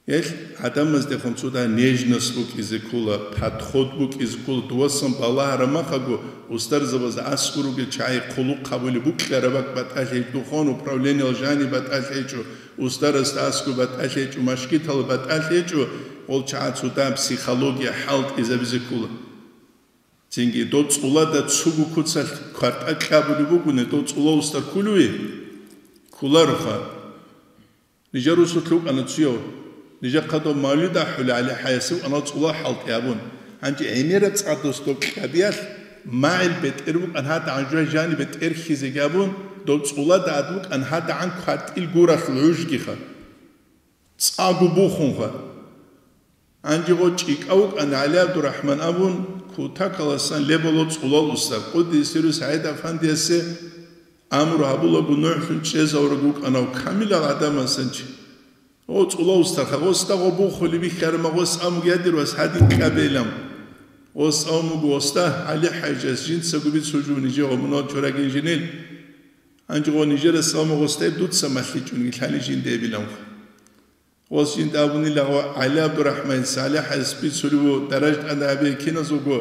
Гьел гӀадамаздехун цода нежность букӀизе ккола, подход букӀизе ккола, дувасан балагьарамахаго устарзабазда аскӀор ругел чагӀи хъулухъ гьабулеб букӀараб бакӀ батӀалъи гьечӀо, духовный управлениялъ жаниб батӀалъи гьечӀо, устарасда аскӀор батӀалъи гьечӀо, машгиталда батӀалъи гьечӀо, гъол чагӀаз цода психология хӀалтӀизабизе ккола. Цинги дов цӀулада цуго куцалъ квартӀа кьабулеб бугони, дов цӀулав устар кколевищ? Кколароха. Нижер росулъ вукӀана цояв. Нижер хъадав мавлид ахӀулев ГӀали ХӀаясев вукӀана цӀулав хӀалтӀи абун. Гьанже гӀемераб цӀадас доб кьабиялъ магӀил бетӀер букӀан гьадагӀан жо жанибе тӀерхьизеги абун, доб цӀулада ад букӀан гьадагӀан квартӀил гуралъул гӀужгиха. ЦӀаго бухунха. Гьанже гъо чӀикӀав вукӀана ГӀали ГӀабдурахӀман абун, кутакаласан лебало цӀулал устар, къуддиса сирругьу СагӀид-афандиясе амру гьабулаго нугӀлъун чӀезавураг вукӀанав камилал гӀадамасан чи. Гъо цӀулав устарха, гъосда гъо бухулеб бихьарама, гъос амуг ядир вас гьадин кьабейлан. Гъос амуго гъосда ГӀали ХӀажас жинцаго бицун жо нижего мунал чорагин жинил. Гьанже гъо нижерас амуг гъосда дуца малъичӀунги лъали жинда эбиланха. Гъос жинда абунила гъо ГӀали ГӀабдурахӀман, СалихӀас бицулев ву даража тӀаде абе киназулго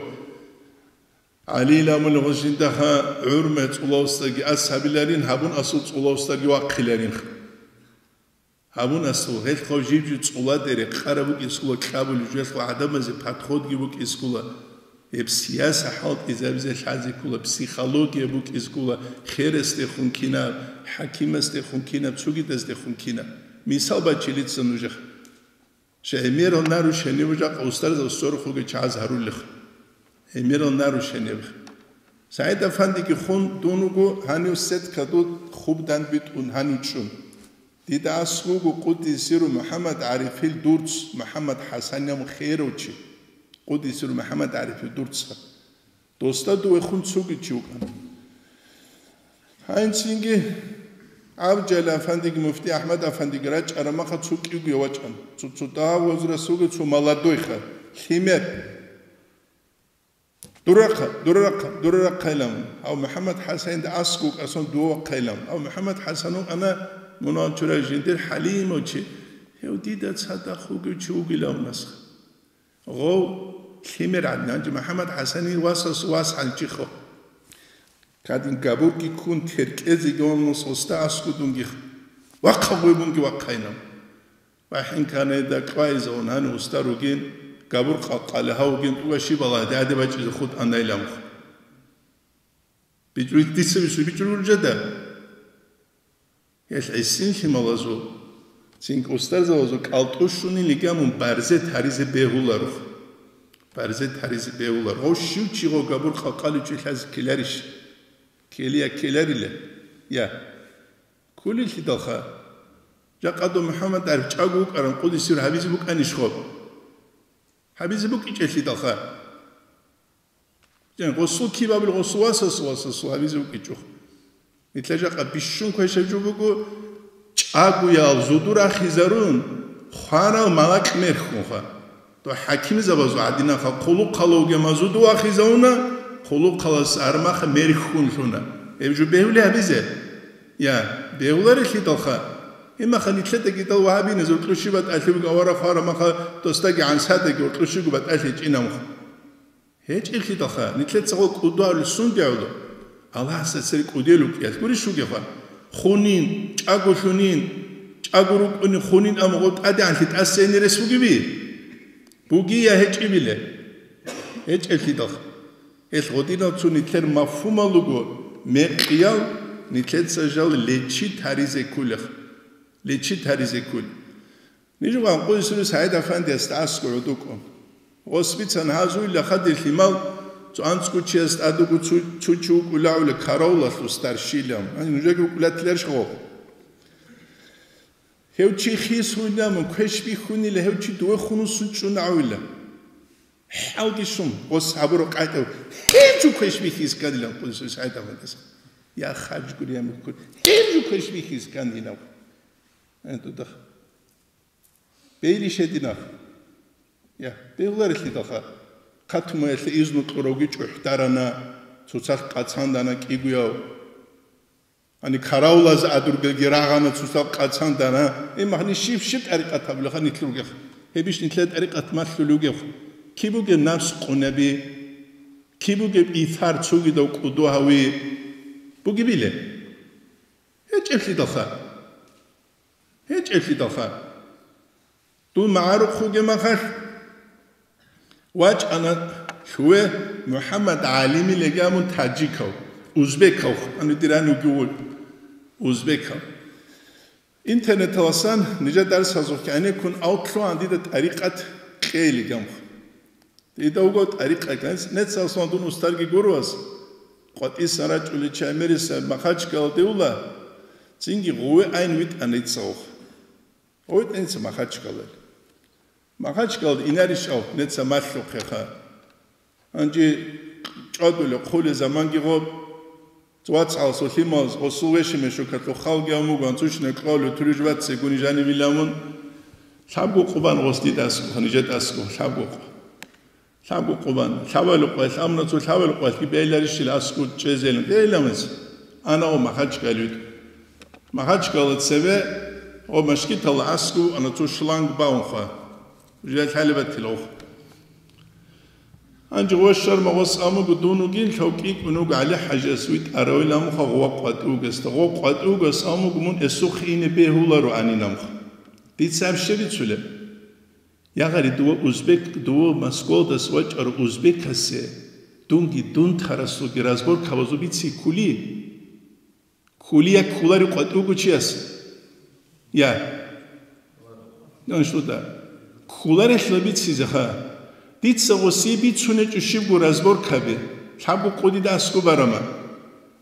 ГӀалила амулев гъос жиндаха гӀурме цӀулавсдаги ас гьабиларин, гьабун асул цӀулавсдаги вахъиларин. Гьабун асул, гьелъ хъав жиб-жиб цӀуладе рекъараб букӀискула, кьабулеб жо гьелъул гӀадамазе подходги букӀискула. Гьеб сияса хӀалтӀизабизе лъазе ккола, психология букӀизе ккола, хересдехун кинаб, хӀакимасдехун кинаб, цогидаздехун кинаб. Мисал бачилица нужехъ. Ша гӀемерал нарушение жакъа устарзабаз сорухъ ругел чагӀаз гьарулех. ГӀемерал нарушение. СагӀид-афандиги хун дун вуго, гьанив сетка дуд хубдан битӀун гьанив чӀун. Дида аскӀ вуго къуддиса сирругьу МухӀаммад ГӀарифил дурц, МухӀаммад ХӀасанил херав чи, къуддиса сирругьу МухӀаммад ГӀарифил дурцха. Досда дувехун цоги чи вукӀана. Гьанцинги ГӀабдулжалил афандиги муфти АхӀмад афандиги рачӀараб махъа цо кӀиго вачӀана. Цо-цо дагьаб возрасулги цо молодойха, лъимер. Дурахъа, дурахъа, дурахъайилан. Гьав МухӀаммад ХӀасанилда аскӀ вукӀасан дувахъайилан. Гьав МухӀаммад ХӀасан вукӀана мунагьал чурай жиндир хӀалимав чи. Гьев дида цадахъ вугев чи вугилан асха. Гъов лъимер гӀадин, гьанже МухӀаммад ХӀасанил васас вас гьанчихо. Кадин габурги ккун теркӀезеги ванус гъосда аскӀудунги вахъа гъойбунги вахъайна. ВахӀин канайда кьвайзавун гьанив уста ругин, габур къалкъали гьавугин тӀуга щибала дяде бачӀизе хутӀанайламхъ. БичӀуй дица бицун бичӀчӀулел жада. Гьелъ гӀисин лъималазул, цинги устарзабазул кӀалтӀу щунилиги гьамун барзе таризе бегьуларо. Барзе таризе бегьуларо. Гъов щив чи гъо габур къалкъаличӀи лъазе ккеларищ? Ккелия ккеларила. Я. Кколелъидалха. Жакъа дов МухӀаммад ГӀариф чӀаго вукӀаран къудисир гьабизе букӀанищ гъоб? Гьабизе букӀичӀелъидалха. Гъосул кибабил гъосул васасул васасул гьабизе вукӀичӀо. Нилъер жакъа бищун квешаб жо буго, чӀагоял зуду рахизарун, хварал малакь мерхьунха. Дов хӀакимзабазул гӀадинаха хъулухъалавги мазуду вахизавуна, хъулухъалас армаха мерхьун лъуна. Гьеб жо бегьули гьабизе? Я, бегьуларелъидалха. Гьимаха нилъедаги дал вагьабиназул кьущи батӀалъи буго авара хварамаха досдаги гӀансадаги ва кьущиго батӀалъи чӀинамха. ГьечӀеблъидалха, нилъеца гъо кӀудуарулъ сундегӀула? Аллагьасда цере кӀудел рукӀиялъ гурищ вугеха? Хунин, чӀаго лъунин, чӀаго рукӀунин хунин, амма гъо тӀадегӀанлъи тӀасейни рес бугеби? Бугия гьечӀибиле. ГьечӀеблъидалха. Гьелъ гъодинал цо нилъер мафгьумал руго, мекъиял, нилъеца жал лечи таризе ккулех. Лечи таризе ккул. Нижгъан къуйсури СагӀид-афандиясда аскӀо гӀодукӀун. Гъос бицан гьазуйла хадир лъимал, цо анцӀго чияс тӀадуго цу-, цу чи вукӀулавула каравулалъул старшилан. Гьанже нужеги вукӀулатиларищ гъо? Гьев чи хисуйла мун квеш бихьунила, гьев чи дуве хунусун чӀун гӀавила. ХӀалги щун, гъос гьабураб къайдав, гьев жо квеш бихьизе кканилан къудусул СагӀид-афандияс. Я, хадж гури, я, мухькур, гьев жо квеш бихьизе кканилан. Э, дудах. Бейли шединах. Я, бегьуларелъидалха. Хъатумаялъе изну кьуравги чӀухӀдарана, цоцалъ къацандана кӀигояв. Гьани каравлаз адургелги рагъана цусал къацандана. Имахни щиб-щиб тӀарикъат гьабулаха нилъ ругех. Гьебищ нилъер тӀарикъат малъулев вугев? Киб бугеб напс къунаби? Киб бугеб ифар цогидав кӀуду гьави? Бугебиле? ГьечӀеблъидалха. ГьечӀеблъидалха. Дун магӀарухъ вугеб махалъ, вачӀана лъугьве МухӀаммад ГӀалими легамун таджикав, узбекав, ана дир гьанивги вуго, узбекав. Интернеталасан нижер дарсазухъ гӀенеккун авлъугьан дида тӀарикъат кьейилигамха. Дида вуго тӀарикъат, нецалъугьан дун устарги гурвас, къватӀисан рачӀулел чай мериса Махачкалалде ула, цинги гъуве айн витӀана иццавухъ. Гъой тӀинца Махачкалал. Махачкалалда инарищ ав, неца малъухъеха. Гьанже чӀвадулев хъуле заманги гъоб, вацгӀал солъималз, гъосул вешимешукалъул халги гьав мугу, анцӀучӀна кьолев туриж вацци гуни жанивиламун, лъабго къубан гъос дида аскӀо, нижеда аскӀо, лъабго къу. Лъабго къубан, лъабало къвалъ, амма цо лъабало къвалъги бегьиларищила аскӀов чӀезелин, бегьиламас. Ана гъо Махачкалалъ. Махачкалалда цебе гъо машгиталда аскӀов ана цо шлангбаунха. Жал лъалебатилавха. Гьанже гъо щварма гъос амуго дун вугин, лъав кӀикӀун вуго ГӀали-хӀажияс витӀаравилан муха гъова къватӀи вугесда. Гъо къватӀи вугес амуго мун эсухъ ине бегьуларо анинамха. Дица гьаб щиб бицулеб? Ягъари дова узбек, дова Москвалдас вачӀарав узбекасе дунги дун тарасулги разборкабазул бици ккули? Ккули я ккулари къватӀи вуго чияс? Я. Аншлуда. Ккуларелъул бицизеха. Дица гъосие бицунечӀо щибго разборкаби. Лъабго къудида аскӀо барама.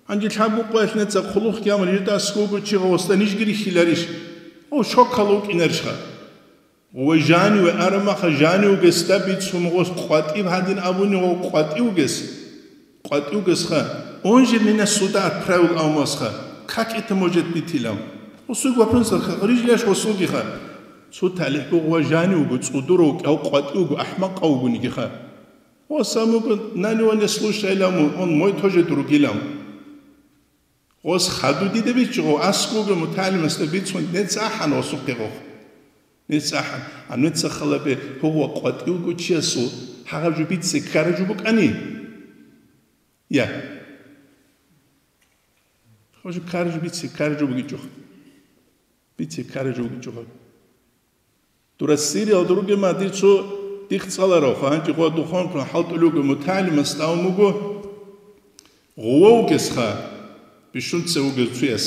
Гьанже лъабго къоялъ неца хъулухъги гьамал жида аскӀо вуго чи гъосда нижги рихьиларищ? О, шоккала вукӀинарищха? Ва жаниве арамаха, жанивгесда бицун гъос къватӀиб гьадин абуни гъо къватӀивгес. КъватӀивгесха, он же меня сюда отправил амвасха, как это может быть илам? Гъосул вопросалха, гърижляш гъосулгиха. Цо талихӀ буго ва жанивго, цӀудуравго, къватӀивго, ахӀмакъавгунигиха. Гъос амуго, нани ва не слушай илам, он мой тоже другилам. Гъос хадув дида бичӀчӀо, гъов аскӀовги мутагӀалимасда бицун, нецахӀан гъосухъе гъов. НецахӀан, а нецахъала бе гьугъва къватӀивго чиясул гьагъаб жо бице ккараб жо букӀани? Я. Гьаб жо ккараб жо бице ккараб жо бугичӀо. Бице ккараб жо бугичӀо гьаб. Дура Сириялда ругема дир цо дихъ цӀаларав, гьанкӀи гъо духъанкун хӀалтӀулев вуго мутагӀалимас тӀамун вуго, гъував вугесха, бищунце вугев цуяс.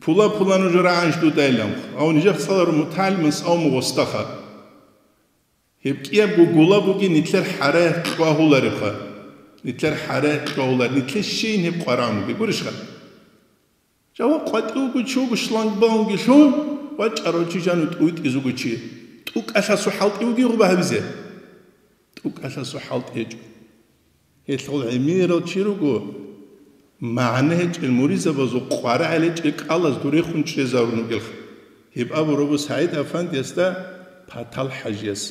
Пула-пула нуж рагӀанш дудайлан, гьав нижехъ цӀаларав мутагӀалимас авму гъостаха. Гьеб кӀиябго гула бугин нилъер хӀараялъ кьвагьуларевха. Нилъер хӀараялъ кьвагьулар, нилъер щейин гьеб къварагӀун бугеб, гурищха? Жава къватӀивго чи вуго шлагбаумги лъун, вачӀарав чи жану тӀуйтӀиз вуго чи. ТӀукӀалъасу хӀалтӀи вугин гъуба гьабизе? ТӀукӀалъасу хӀалтӀи гьечӀо. Гьелъул гӀемерал чи руго, магӀна гьечӀел муризабазул къварагӀел гьечӀел кӀалаз дурехун чӀезарун вугелха. Гьеб абурабу СагӀид-афандиясда Патал-хӀажияс.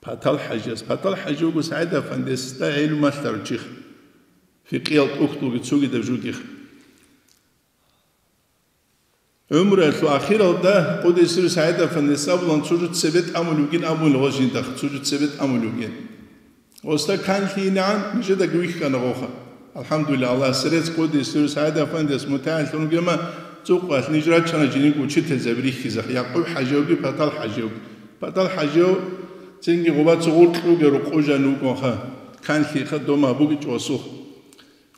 Патал-хӀажияс. Патал-хӀажи вуго СагӀид-афандиясда гӀелму малъарав чихъ. Фикъиял тӀухьдулги цогидаб жугихъ. ГӀумруялъул ахиралда Къуддиса сирругьу СагӀид-афандияс абулан, цо жо цебе тӀамулев вугин абун гъо жиндахъ, цо жо цебе тӀамулев вугин. Гъосда канлъи инегӀан нижедаги вихьана гъоха. АлхӀамдулиллагь, Аллагьасе рецц, Къуддиса сирругьу СагӀид-афандияс мутагӀаллъун вугема, цӀукъалъ ниж рачана жиниг учительзаби рихьизахъ, Якъуб-хӀаживги, Патал-хӀаживги. Патал-хӀажив цинги гъубаца гъуркь вугев рукъужан вукӀунха, канлъиха дома бугичӀо гъосухъ.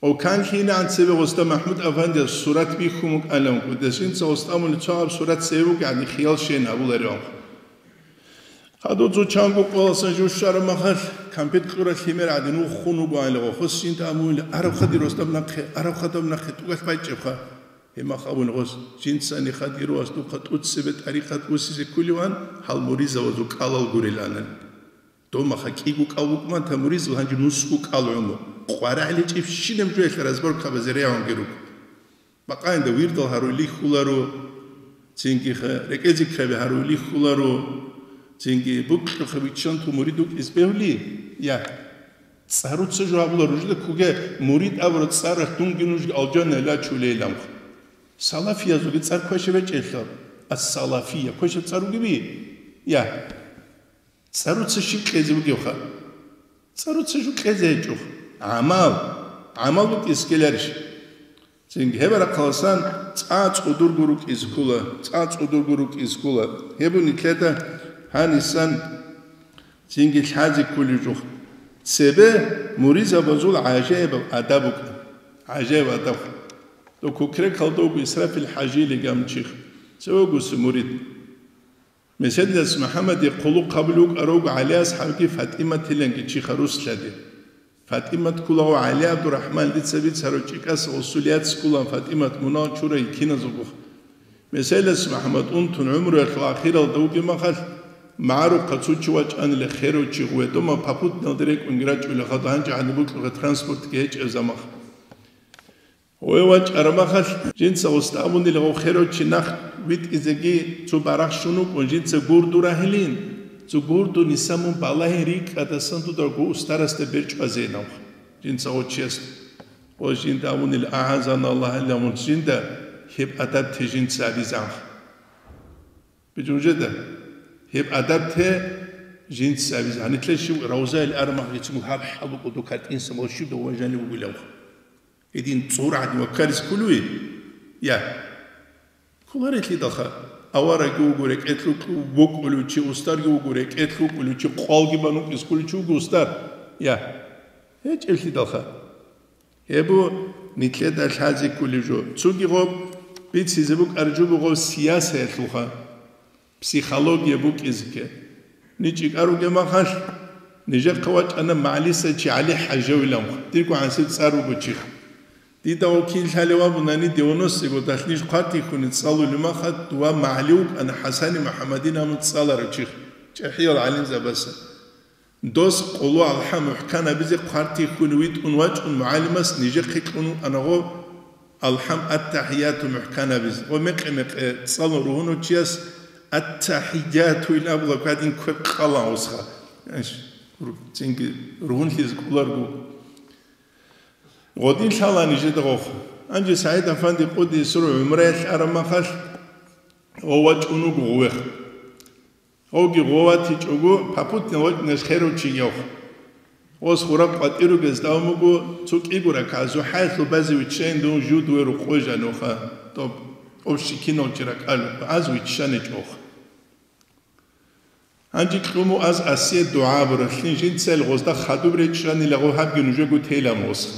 Гъов канлъи инегӀан цебе гъосда МахӀмуд-афандияс сурат бихьун букӀанилан, кӀудесинца гъосда амулеб цо гьаб сурат цебе букӀани хиял щейин гьабулариван. Гьадуцу чанго къоялъа жо щвараб махалъ, кампет кьуралъ гьимер гӀадин вуххун вугоанила гъохос жинда амулила, араб хадир гъосдаб нахъе, араб хадаб нахъе тӀугалъ байчӀебха. Гьеб мах абун гъос, жинцани хадир вас духъа тӀуцебе тӀарикъат усизе кколиван, гьал муризавазул кӀалал гуриланани. Домаха кӀиго кӀал букӀман та муризул гьанже нусго кӀал гӀумру. КъварагӀличӀебщинаб жоялъ разборкабазе регӀунги руго. Бакъаинда вирдал гьаруй лихьуларо, цинги ха-, рекӀел зикраби гьаруй лихьуларо, цинги букьухъа виччанту мурид вукӀиз бегьули? Я. ЦӀаруца жо гьабула ружда куге, мурид абура цӀаралъ дунги нужги алжанайла чулейиланха. Салафиязулги цӀар квешаб гьечӀелъа, ас-салафия квешаб цӀар ругеби? Я. ЦӀаруца щиб кьезе бугевха? ЦӀаруца жо кьезе гьечӀоха. ГӀамал. ГӀамал букӀискеларищ? Цинги гьеб рахъаласан цӀа цӀудурго рукӀиз ккула, цӀа цӀудурго рукӀиз ккула. Гьеб нилъеда гьанисан цинги лъазе кколеб жо. Цебе муридзабазул гӀажаибаб адаб букӀа. ГӀажаиб адаб. Дов Кукрекалда вуго Исрафил ХӀажили гамчихъ. Цеве вугоси мурид. Меседилас МухӀаммадие хъулухъ гьабулев вукӀарав вуго ГӀали асхӀабги ФатӀиматиланги чиха руслъади. ФатӀимат кколаго ГӀали ГӀабдурахӀман дица бицарав чӀикӀаса гъосул яц кколан ФатӀимат мунагь чурай киназулгуха. Меседилас МухӀаммад унтун гӀумруялъул ахиралда вугеб махалъ, магӀарухъа цо чи вачӀанила херав чи гъведома попутналде рекӀунги рачӀула хадуб гьанже гьаниб букьуха транспортги гьечӀеб замах. Гъов вачӀараб махалъ, жинца гъосда абунила гъов херав чи нах витӀизеги цо барагь щун вукӀун, жинца гурду рагьилин, цо гурду ниса мун балагьин рикӀкӀадасан дуда гъов устарасда берчӀвазейин абха. Жинца гъов чиясда. Гъов жинда абунила, агьазан Аллагь, гьале мун жинда гьеб адаб те жинца абизанха. Бижунжеда, гьеб адаб те жинца абизе. Гьанитла щив равзаил арамах гьечӀо гьаб хӀалукъу дукар инсан ва щив дов ванжани вугилавха. Гьедин цӀур гӀадин ваккарис кколуи? Я. Кколарелъидалха, аварагги вуго рекӀелъул вукӀулев чи, устарги вуго рекӀелъ вукӀулев чи, къвалги банукӀис кколев чи вуго устар. Я. ГьечӀеблъидалха. Гьеб нилъеда лъазе кколеб жо. Цоги гъоб бицизе букӀараб жо буго гъоб сиясаялъулха. Психология букӀизеги. Ничи кӀаруге махалъ, нижехъа вачӀана МагӀалиса чи ГӀали ХӀажавилан, дирго гӀансиб цӀар вуго чихъ. Дида вокил лъалев абунани девяностые годалъ ниж хъвартихьуни цӀалулев махалъ, дова магӀали вукӀана ХӀасани МухӀаммадин абун цӀаларав чихъ, чӀахӀиял гӀалимзабаса. Дос къоло алхӀам мухӀкан абизе хъвартихьуни витӀун вачӀун, мугӀалимас нижехъе кьун вукӀана гъо алхӀам аттахӀияту мухӀкан абизе. Гъо мекъи-мекъи цӀалун ругьунав чияс аттахӀияту ил абула гьадин квер къалан усха. Иш, ру-, цинги ругьунлъизе кӀоларго. Гъодин лъала нижеда гъохъ. Гьанже СагӀид-афанди къуддиса сирругьу гӀумраялъ араб махалъ гъо вачӀун вуго гъувехъ. Гъоги гъо ватичӀого, попутно вачӀунес херав чи гьев. Гъос хураб къватӀир ругез давун буго, цо кӀиго ракагӀат зухӀаялъул базе виччайин дун жуд веру къо жануха, тоб, общий кинав чи ракӀалухъ, аз виччаничӀохъ. Гьанже кьуму аз асие дугӀа абуралъин жинцайил гъозда хадуб речӀчӀанила гъо гьабги нужего тейилан восха.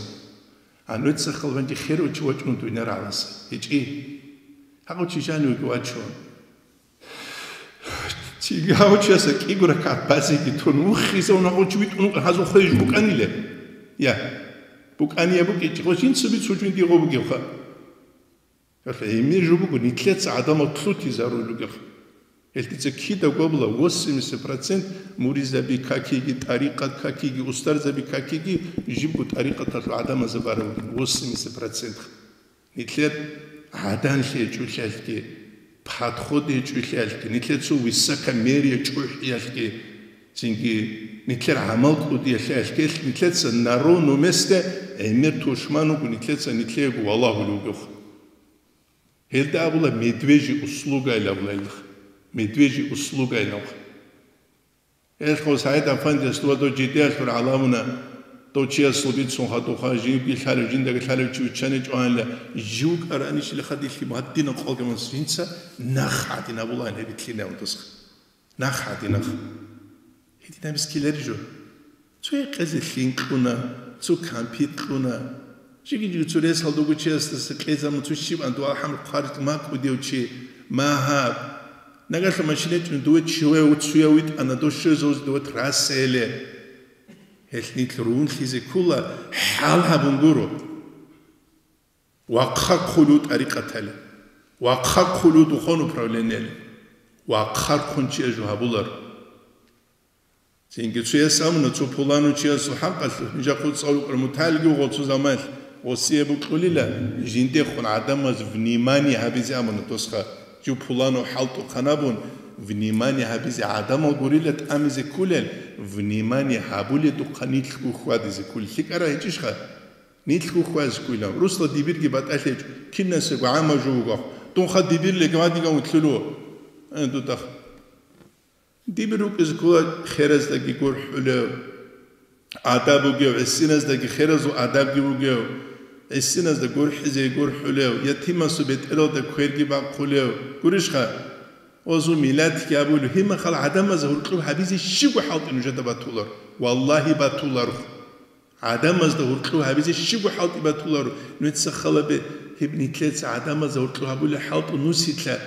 Гьануецахъал гьанже херав чи вачӀун дуйнар гӀаласа. ГьечӀи. Гьагъав чи жанивеги вачун. Чи гьав чияса кӀиго ракагӀат базеги тун, вухизе унагъо чи витӀун вукӀан гьазул хвеж букӀаниле? Я. БукӀания букӀичӀого жинцаби цо жундие гъо бугевха. Гьелъ гьемир жо буго, нилъеца гӀадамал лъутизарулел ругел. Гьелъ дица кидаго абула, восемьдесят процент муризаби какиги, тӀарикъат какиги, устарзаби какиги, жибго тӀарикъаталъул гӀадамазда бараб бугин, восемьдесят процент. Нилъер гӀаданлъи гьечӀолъиялъги, подход гьечӀолъиялъги, нилъер цо высокомерие чӀухӀиялъги, цинги нилъер гӀамал кӀудиялъиялъги, нилъеца на ровном месте гӀемер тушман вуго, нилъеца нилъеего валагьулев вугевха. Гьелда абула медвежьи услугайилан абула гьелда. Медвежьи услугайилан. Гьелъго СагӀид-афандияс дова дов жидеялъур гӀаламуна, дов чиясул бицун хадуха, живги лъалев, жиндаги лъалев чи виччаничӀо гьанила, жив кӀаранищила хадилъи гьадинаб къалгамас жинца нах гӀадин абулаан гьеб битлъинавун досха. Нах гӀадинах. Гьединаб мискилари жо. Цо гьекъезе лъин кьуна, цо кампит кьуна. Жиги-жиги цо ресалда вугучиясдаса кьезаб мун цо щибан дугӀа хӀамру хъварикь макӀудев чи, магьаб. Нагалъа машина чӀун дуве чиве уцуя витӀана, дошуе зовзе дуве трассаяле. Гьелъ нилъ рунлъизе ккула, хӀал гьабун гуро. Вахъа хъулу тӀарикъатали, вахъа хъулу духовный управлениели, вахъа хъун чияз жо гьабулар. Цинги цояс абуна, цо пуланав чиясул хӀакъалъулъ, нижахъ цӀалукъра муталги вуго цо заманалъ, гъосие букьулила, жиндехун гӀадамаз внимание гьабизе абуна досха, жив пуланав хӀалтӀухъан абун, Внимание гьабизе гӀадамал гурила тӀамизе кколел, внимание гьабуледухъа нилъго хьвадизе кколел. ЛъикӀара гьечӀищха? Нилъго хьвадизе кколилан. Русла дибирги батӀалъи гьечӀо, кинасего гӀама жо вугохъ. Дунха дибир легмадиган вутлъуло. Э, дудахъ. Дибир рукӀизе ккола хераздаги гурхӀулев, адаб бугев, гӀисиназдаги херазул адабги бугев, гӀисиназда гурхӀизе гурхӀулев, ятимасул бетӀералда кверги бахъулев. Гурищха? Озу миллатги абулев, гьеб мехалъ гӀадамазда гьоркьоб гьабизе щибго хӀалтӀи нужеда батулар. Валлагьи, батуларо. ГӀадамазда гьоркьоб гьабизе щибго хӀалтӀи батуларо. Нужеца халабе гьеб нилъеца гӀадамазда гьоркьоб гьабулеб хӀалтӀу нусилъа.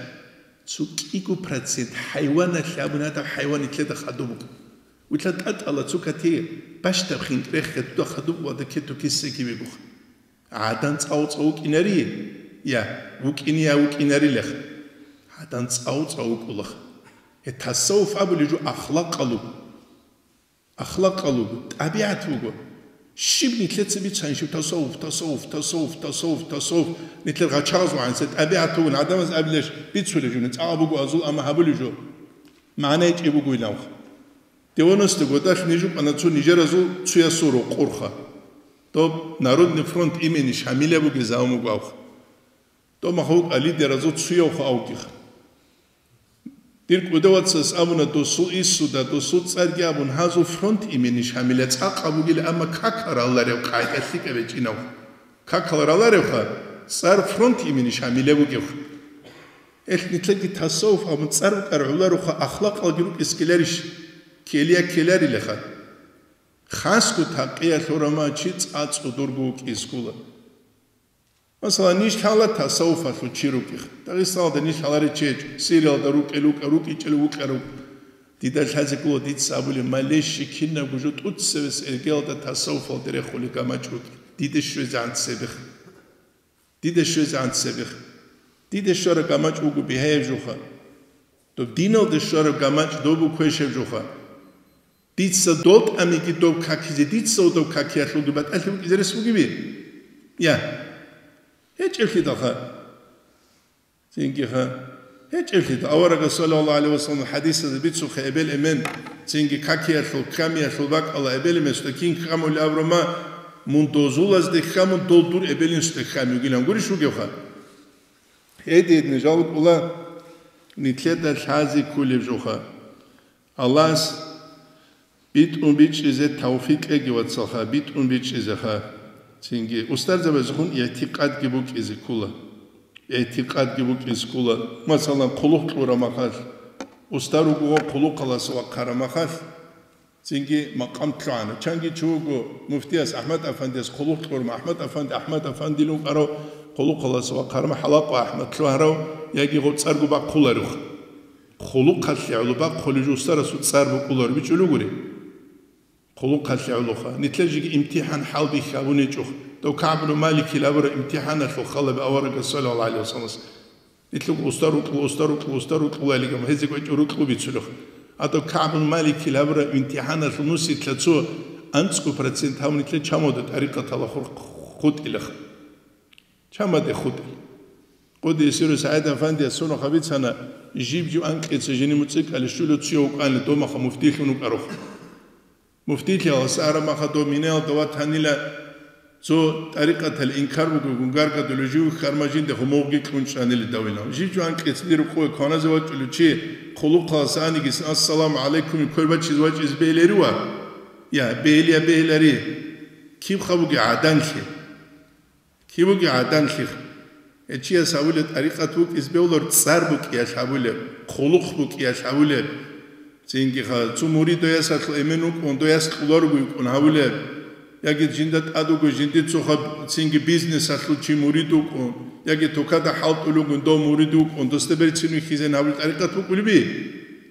Цо кӀиго процент хӀайваналъе абуни гьадаб хӀайван нилъеда хадуб буго. Вилъа тӀатӀала цо кати бащдаб хинкӀ рехе туда хадуб вада кету кисе кибигуха. ГӀадан цӀав-цӀав вукӀинари, я, вукӀине я вукӀинарилаха. ГӀадан цӀав-цӀав вукӀулаха. Гье, тасаввуф абулеб жо ахлакъалъ вуго. Ахлакъалъ вуго, тӀабигӀат вуго. Щиб нилъеца бицанщиб тасаввуф, тасаввуф, тасаввуф, тасаввуф, тасаввуф. Нилъер гъачагъаз вагӀансе тӀабигӀат вугин гӀадамаз абилеш бицулеб жо, цӀакъ буго азул, амма гьабулеб жо. МагӀна гьечӀеб буго илавха. Девяносто годалъ ниж вукӀана цо нижеразул цоясул рокъорха. Доб Народный фронт имени Шамиля бугезавун вуго авха. Доб махалукь лидеразул цоявха авгиха. Дир кӀудавацас абуна, досул инсуда, досул цӀарги абун, гьазул фронт имени Шамиля цӀакъ абугил, амма какал раларев къайда лъикӀаб гьечӀинав. Какал раларевха, цӀар фронт имени Шамиля бугевха. Гьелъ нилъеги тасаввуф абун цӀар букӀар гӀоларуха, ахлакъалги рукӀискеларищ? Ккелия ккеларилаха. Хасго такъиялъ гьорама чи цӀа-цӀодорго вукӀискула. Масала, ниж лъала тасаввуфалъул чи рукӀих. Дагъистаналда ниж лъаларел чи гьечӀо, Сириялда рукӀел рукӀа, рукӀичӀел вукӀа рук. Дида лъазе ккола дица абулеб, малещи кинабго жо тӀуцевес эргелалда тасаввуфалде рехулеб гамачӀ букӀи. Диде щвезегӀан цебех. Диде щвезегӀан цебех. Диде щвараб гамачӀ буго бигьаяб жуха. Доб диналде щвараб гамачӀ доб буго квешаб жуха. Дица дол тӀамиги доб какизе, дица доб какиялъулги батӀалъи букӀизе рес бугеби? Я. ГьечӀеблъидалха. Цинги ха. ГьечӀеблъидал. Аварагас, саллаллагьу гӀалайгьи ва саллам, хӀадисазе бицухъе эбел-эмен, цинги какиялъул, ккамиялъул бакӀала эбел-эменсда кин ккамулеб абураб ма, мун дозулазде ккамун, дол дур эбел-инсуда кками вугилан гурищ вугевха? Гьедин, жал кӀула, нилъеда лъази ккулеб жуха. Аллагьас битӀун бичӀчӀизе тавфикъ кьеги, вацалха, битӀун бичӀчӀизеха. Цинги устарзабазухун игӀтикъадги букӀизе ккула. ИгӀтикъадги букӀизе ккула. Масалан, хъулухъ кьураб махалъ, устар вуго хъулухъалас вахъараб махалъ, цинги макъам лъугӀана. Чанги чи вуго муфтияс, АхӀмад-афандияс хъулухъ кьураб, АхӀмад-афанди, АхӀмад-афандилан вукӀарав, хъулухъалас вахъараб, ХӀалакъа АхӀмад лъугьарав, яги гъоб цӀарго бахъуларев. Хъулухъалъе гӀоло бахъулев жо устарасул цӀар букӀулар бичӀчӀулев гури. Хъулухъалъе гӀолоха. Нилъер жеги имтихӀан хӀалбихьи абунечӀо. Дов КагӀб ибн Маликил абураб имтихӀаналъул халаби аварагас, саллаллагьу гӀалайгьи ва саллам. Нилъго устар рукьула, устар рукьула, устар рукьула илигам, гьезего гьечӀо рукьу бицулех. Гьадаб КагӀб ибн Маликил абураб имтихӀаналъул нусилъа цо анцӀго процент гьав нилъер чамалда тӀарикъатала хур-, хутӀилаха. Чамаде хутӀи. Къуди Исиру СагӀид-афандияс цо нухда бицана, жиб-жиб анкьица жиндир муцӀикӀалъе щулев цояв вукӀанила, дов махалъ муфтилъун вукӀарав. Муфтилъи гьалас араб махалъ дов Минаялда ватанила, цо тӀарикъаталъ инкар бугогун гаргадулев жив хьарма жинда гьумогъги кьун чӀванила давилан. Жиб-жиб анкьица дир рукъове кваназе вачӀулев чи хъулухъалъ аниги, «Ассаламу гӀалайкум» квер бачизе вачӀизе бегьиларива? Я, бегьилия бегьилари. Кибха бугеб гӀаданлъи? Киб бугеб гӀаданлъи? Гьев чияс гьабулеб тӀарикъат букӀизе бегьулар, цӀар букӀиялъ гьабулеб, хъулухъ букӀиялъ гьабулеб. Цинги ха, цо мурид дов ясалъул эмен вукӀун, дов яс кьуларого йикӀун гьабулеб. Яги жинда тӀад вуго, жиндир цо ха цинги бизнесалъул чи мурид вукӀун, яги тукада хӀалтӀулев вугин дов мурид вукӀун, досда берцин вихьизейин гьабулеб тӀарикъат букӀулеби?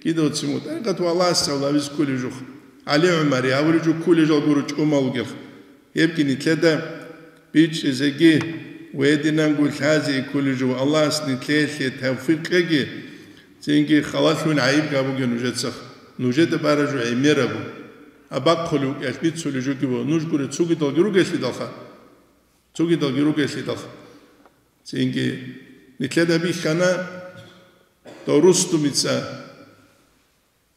Кидавцин вуго. ТӀарикъат ва Аллагьас гьавлабиз кколеб жух. ГӀали ГӀумари гьавулеб жо кколел жал гуро чӀумал вугел. Гьебги нилъеда бичӀчӀизеги ва гьединанго лъазе кколел жо. Аллагьас нилъеялъе тавфикъ кьеги, цинги халалъун гӀайиб гьабуге нужецаха. Нужеда бараб жо гӀемерабу. Абахъулев вукӀиялъ бицулел жоги буго, нуж гуре цогидалги ругелъидалха. Цогидалги ругелъидалха. Цинги нилъеда бихьана, дов Рустумица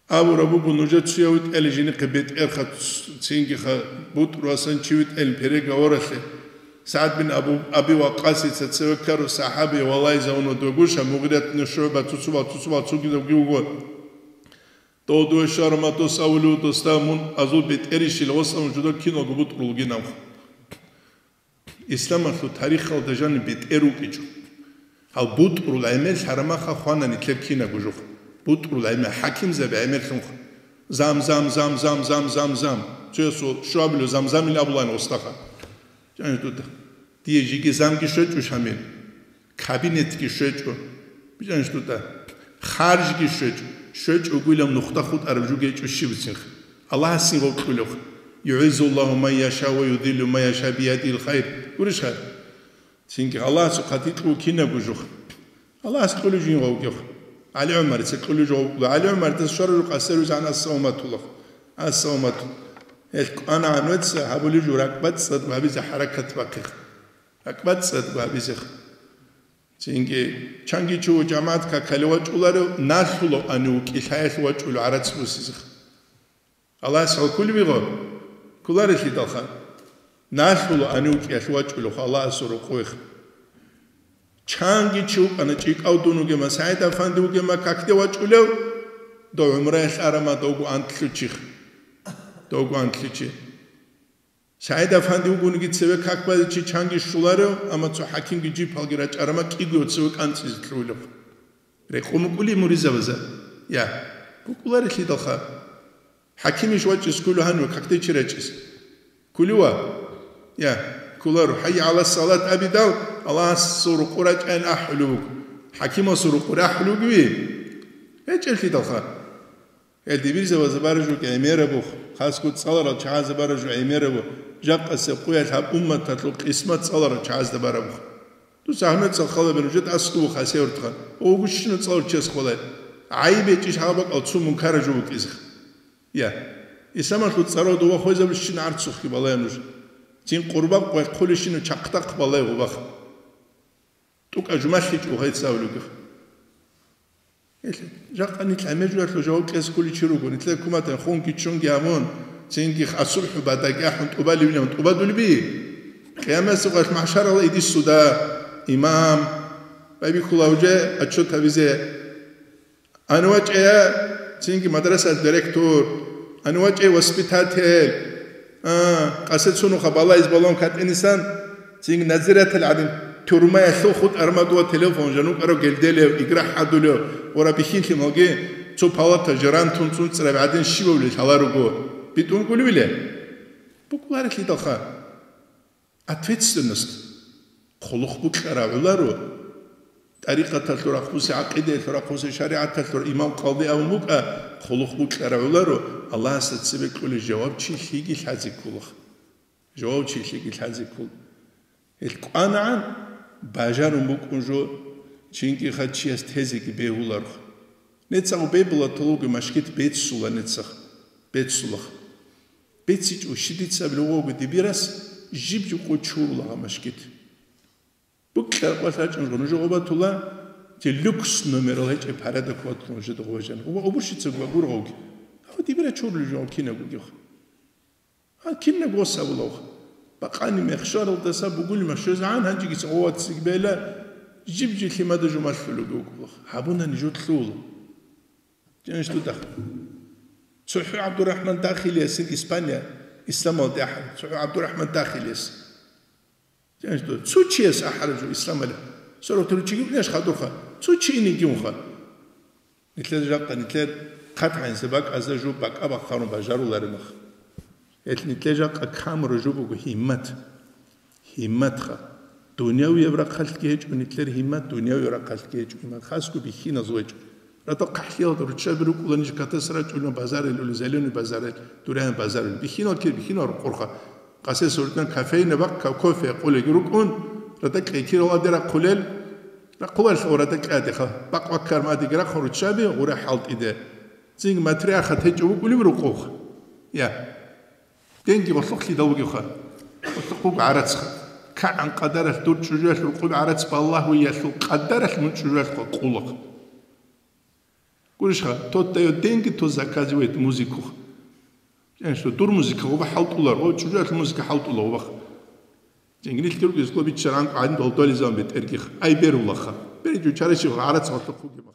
Абураб буго, нужецая витӀали жинихъе бетӀерха, цинги ха бутӀруласан чи витӀалин переговоралъе. СагӀд бин Абу, Аби Ваккасица цеве ккару сахӀаби валайзавуна догуша, Мугъират бин ШугӀба цуцубал, цуцубал цугидавги вуго. Дов дуе шарматос авулев доста мун азул бетӀерищил гъосамун жуда киналго бутӀрулгинавха. Исламалъул тарихалда жаниб бетӀер вукӀичӀо. Гьал бутӀрул гӀемер лъарамаха хвана нилъер кинабго жух. БутӀрул гӀемер, хӀакимзаби гӀемерлъунха. Зам, зам, зам, зам, зам, зам, зам. Цоясул щуабилев замзамил абулаан гъостаха. Жаниб дуда. Дие жиги замги щвечӀо, Шамил. Кабинетги щвечӀо. Жаниб дуда. Харжги щвечӀо. ЩвечӀогуилан нухда хутӀараб жугечӀо щиб бицинха. Аллагьасин гъов кьулев. «ЮгӀиззуллагьу ман яша ва юдиллу ман яша биядил хайр». Гурищха? Цинги Аллагьасул хъатикьу кинабго жух. Аллагьас кьулев жин гъовгев. ГӀали ГӀумарица кьулев жо гъовгу. ГӀали ГӀумаридас щварару къасарузан ассаламатуллах. Ассаламату. Гьел кӀванагӀан веца гьабулев жо ракӀбацӀцӀад гьабизе хӀаракат бахъих. РакӀбацӀцӀад гьабизех. Цинги чанги чуго жамагӀат какали вачӀуларев, налъулав ани вукӀи лъаялъ вачӀулев гӀарац бусизех. Аллагьас гьал кколеб буго? Кколарелъидалха. Налъула ани вукӀиялъ вачӀулев Аллагьасул рокъовех. Чанги чи вукӀана, чӀикӀав дун вугема, СагӀид-афанди вугема, какде вачӀулев? Дов гӀумраялъ арама, довго антлъучих. Довго антлъичи. СагӀид-афанди вугониги цеве как базе чи чанги щуларев, амма цо хӀакимги жипалги рачӀарама, кӀиго цеве кӀанцӀизе лъугьулев. Рекъон букӀули муризабаза? Я, букӀуларелъидалха. ХӀакимищ вачӀес кколев гьанив, какде чи рачӀес? Кколев ва? Я, кколаро. «ХӀайя гӀала салат» абидал, Аллагьасул рукъу рачӀайин ахӀулев вуго. ХӀакимасул рукъу рахӀулев вугеви? ГьечӀелъидалха. Гьел дибирзабазда баражу гӀемерабух, хасго цӀаларал чагӀазда баражу гӀемерабу, жакъасеб къуялъ гьаб умматалъул къисмат цӀаларал чагӀазда барабух. Дуца гьануца халабе нужеда аскӀубу хасевртха, ва вугущину цӀалур чес хвалай. ГӀайиб гьечӀищ гьаб бакӀал цо мункара жо вукӀизех. Я. Исламалъул цӀарал дова хвезабищин гӀарцухъги балай нуж. Цин къурбакъ вай хъулищину чахъдахъ балай гъубах. ТӀукӀа жумалъичӀо гьайцавлугех. Гьелъ, жакъа нилъ гӀемер жуялъул жаваб кьезе кколичи руго, нилъер куматан хунги чунги гьабун, цинги асубхӀу бадагӀи ахӀун тӀубалевилан тӀубадулеби? Къиямасеб къоялъ, махӀшаралда идиссуда, имам, байбихьула гьуже отчет гьабизе. Ан вачӀая, цинги мадрасаялъ директор, ан вачӀая воспитатель, А, къасе цунуха балайз балун катӀинисан, цинги надзиратель гӀадин, тюрмаялъул хутӀармадула телефон жанукӀарав гелделев, игра хӀадулев, ва рабихьинлъи малги, цо палата жерантун цунцӀраби гӀадин щибабли лъаларуго, битӀун кӀулевиле? БукӀуларелъидалха. Ответственность. Хъулухъ букьарав гӀоларо. ТӀарикъаталъул рахъуси, гӀакъидаялъул рахъуси, шаригӀаталъул имам-къалди абун букӀа, хъулухъ букьарав гӀоларо, Аллагьасда цебе кьолей жаваб чи лъиги лъазе ккола. Жаваб чи лъиги лъазе ккола. Гьел кӀванагӀан бажарун букӀун жо, чинги хъа чияс тезеги бегьуларухъ. Нецагъ бебулатулуги машгит беццула нецагъ, беццулахъ. БецичӀо щидицаб лугъого дибирас жиб-жиб къо чурулагъа машгит. Букьа къвалъ рачӀун жо нужа гъобатула, те люкс номерал гьечӀеб парада кватлъун жо догъважан. Гъоба обурщицаго гургъавги. Гьав дибира чурли жо кинабгогихъ. Гьа, кинаб гъос абулавха. Бакъани мехшаралдаса бугулима щвезегӀан гьанжеги цӀа гъоват цигбела, жиб-жи лъимада жумалъулуги вукӀулах. Гьабуна нижутлъул. Жаниш дудахъ. ЦохӀо ГӀабдурахӀман Дахилиясин Испания, исламалде ахӀараб. ЦохӀо ГӀабдурахӀман Дахилияс. Жаниш ду-, цо чияс ахӀараб жо исламалде. Сорокторучи гибнеш хадурха. Цо чи инигиунха. Нилъер жакъа, нилъер хъат гьанже бакӀазда жо бакӀа бахъарун бажаруларемах. Гьелъ нилъер жакъа камура жо буго гьиммат. Гьимматха. Дунявияб рахъалъги гьечӀо нилъер гьиммат, дунявияб рахъалъги гьечӀо гьиммат. Хасго бихьиназ гьечӀо. Ратал хъахӀлъиялда руччаби рукӀула ниж катас рачӀуна базарил ули, зеленый базарил, дурян базарил. Бихьинал кир, бихьинал рукъурха. Къасес гьурдан кофейна бакъ ка-, кофе къулеги рукӀун, ратал кьекирал аде рахъулел, рахъуларел гъура дакьадеха, бакъ ваккар мадиги рахъун руччаби гъура хӀалтӀиде. Цинги матрияхъа течӀо вукӀулев рукъух. Я. Денги гъолъухълъидал вугевха. Гъолъухъ буго гӀарацха. КагӀан къадаралъ дур чӀужуялъ рукъуб гӀарац балагьуялъул къадаралъ мун чӀужуялъ къулухъ. Гурищха, тот даёт деньги, тот заказывает музыку. Жен что, дур музыка гъоба хӀалтӀулар, гъо чӀужуялъ музыка хӀалтӀула гъобах. Жен гнилъги ругезго биччаран гӀадин долдолизан бетӀергих. Ай берулаха. Бери жучарищев гӀарац гъорлъухъ бугебах.